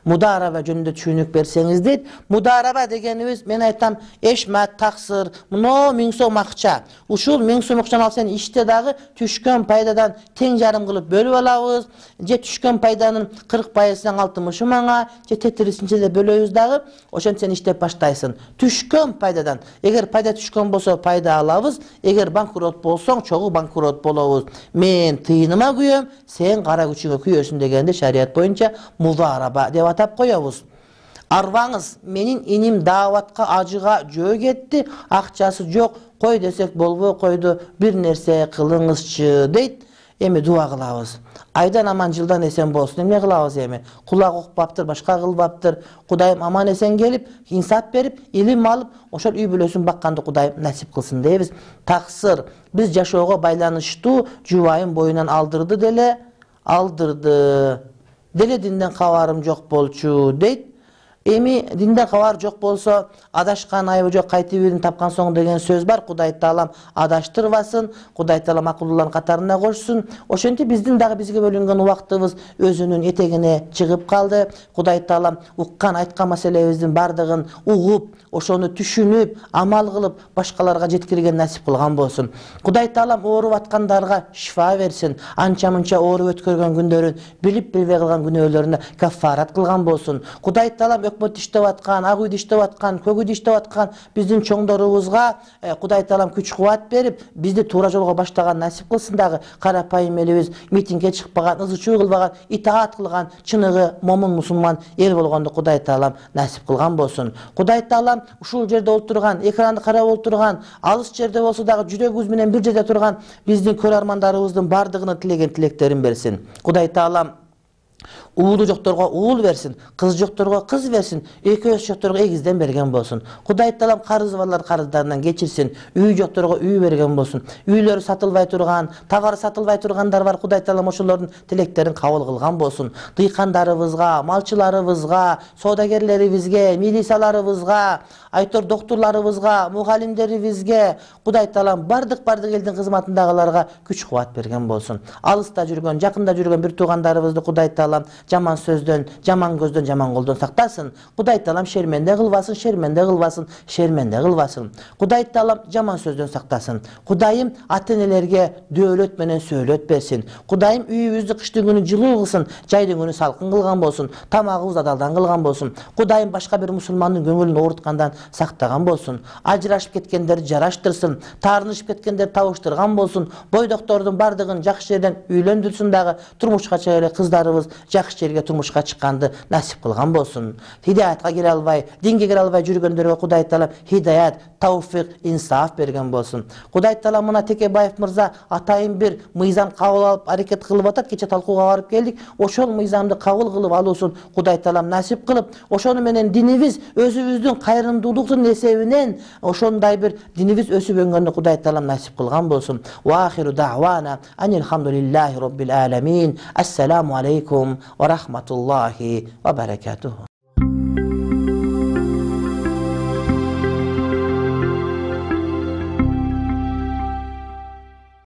S1: Мудараба жөнүндө түшүнүк берсеңиз дейт. Мудараба дегенибиз, мен айтам, эшмат, таксыр, мына миң сом акча. Ушул миң сом акчаны ал сен иште дагы түшкөн пайдадан тең жарым кылып бөлүп алабыз. Же түшкөн пайданын кырк пайызынан алтымыш мыңга, же тетирисинче де бөлөбүз дагы. Ошентип сен иштеп баштайсың. Түшкөн пайдадан, эгер пайда түшкөн болсо пайда алабыз, эгер банкрот болсоң чогуу банкрот болобуз. Мен тыйыныма күйөм, сен кара күчүңө күйөсүн дегенде шарият боюнча мудараба деп атап коебуз. Арбаңыз, менин иним дааватка ажыга жөө кетти, акчасы жок, кой десек болбой койду, бир нерсе кылыңызчы дейт. Эми дуа кылабыз. Айдан аман жылдан эсен болсун. Эмне кылабыз эми? Кулак укпаптыр, башка кылбаптыр. Кудайым аман эсен келип, инсап берип, илим алып, ошол үй бүлөсүн бакканды Кудайым насип кылсын дейбиз. Таксыр, биз жашоого байланыштуу жубайым боюнан алдырды деле, алдырды. Деле динден кабарым жок болчу дейт. Эми динден кабар жок болсо, адашкан айыбы жок кайтып тапкан соң деген сөз бар. Кудай Таалам адаштырбасын, Кудай Таалам акылдуулардын катарына кошсун. Ошентип биздин дагы бизге бөлүнгөн убактыбыз өзүнүн этегине чыгып калды. Кудай Таалам уккан, айткан маселебиздин бардыгын угуп, ошону түшүнүп, амал кылып, башкаларга жеткирген насип кылган болсун. Кудай Таалам ооруп аткандарга шифа берсин. Анча-мынча ооруп өткөргөн күндөрүн билип билбей калган күнөөлөрүнө каффарат кылган болсун. Кудай Таалам өкмөт иштеп аткан, ак үйдө иштеп аткан, көк үйдө иштеп аткан биздин чоңдорубузга Кудай Таалам күч-кубат берип, бизди туура жолго баштаган насип кылсын дагы. Карапайым элибиз митингге чыкпаган, ызы-чуу кылбаган, итаат кылган, чыныгы момун мусулман эл болгонду Кудай Таалам насип кылган болсун. Кудай Таалам ушул жерде отурган, экранды карап отурган, алыс жерде болсо дагы жүрөгүбүз менен бир жерде турган биздин көрөрмандарыбыздын бардыгына тилеген тилектерин берсин. Кудай Таалам уулу жокторго уул берсин, кыз жокторго кыз берсин, экөөс жокторго эгизден берген болсун. Кудай Таалам карызы барлар карыздарынан кечирсин, үй жокторго үй берген болсун. Үйлөрү сатылбай турган, товары сатылбай тургандар бар, Кудай Таалам ошолордун тилектерин кабыл кылган болсун. Дыйкандарыбызга, малчыларыбызга, соодагерлерибизге, милицияларыбызга, айтор доктурларыбызга, мугалимдерибизге Кудай Таалам бардык-бардык элдин кызматындагыларга күч-кубат берген болсун. Алыста жүргөн, жакында жүргөн бир туугандарыбызды Кудай Таалам жаман сөздөн, жаман көздөн, жаман колдон сактасын. Кудай Таалам шерменде кылбасын, шерменде кылбасын, шерменде кылбасын. Кудай Таалам жаман сөздөн сактасын. Кудайым ата-энелерге дөөлөт менен сөөлөт берсин. Кудайым үйүбүздү кыштын күнү жылуу кылсын, жайдын күнү салкын кылган болсун, тамагыбызды адалдан кылган болсун. Кудайым башка бир мусулмандын көңүлүн ооруткандан сактаган болсун. Ажырашып кеткендерди жараштырсын, таарынышып кеткендерди табыштырган болсун. Бойдоктордун бардыгын жакшы жерден үйлөндүрсүн дагы, турмушка чыга эле кыздарыбыз жакшы жакшы жерге турмушка чыкканды насип кылган болсун. Хидаятка келе албай, динге кире албай жүргөндөргө Кудай Таала хидаят, тауфик, инсаф берген болсун. Кудай Таала мына Текебаев мырза атайын бир мыйзам кабыл алып аракет кылып атат. Кече талкууга барып келдик. Ошол мыйзамды кабыл кылып алуусун Кудай Таалам насип кылып, ошону менен динибиз өзүбүздүн кайрымдуулуктун эсебинен ошондой бир динибиз өсүп өнгөнү Кудай Таалам насип кылган болсун. Ва ахиру дa'wana анил хамдулиллахи rabbil alamin. Ассаламу алейкум ва рахматуллахи ва баракатуху.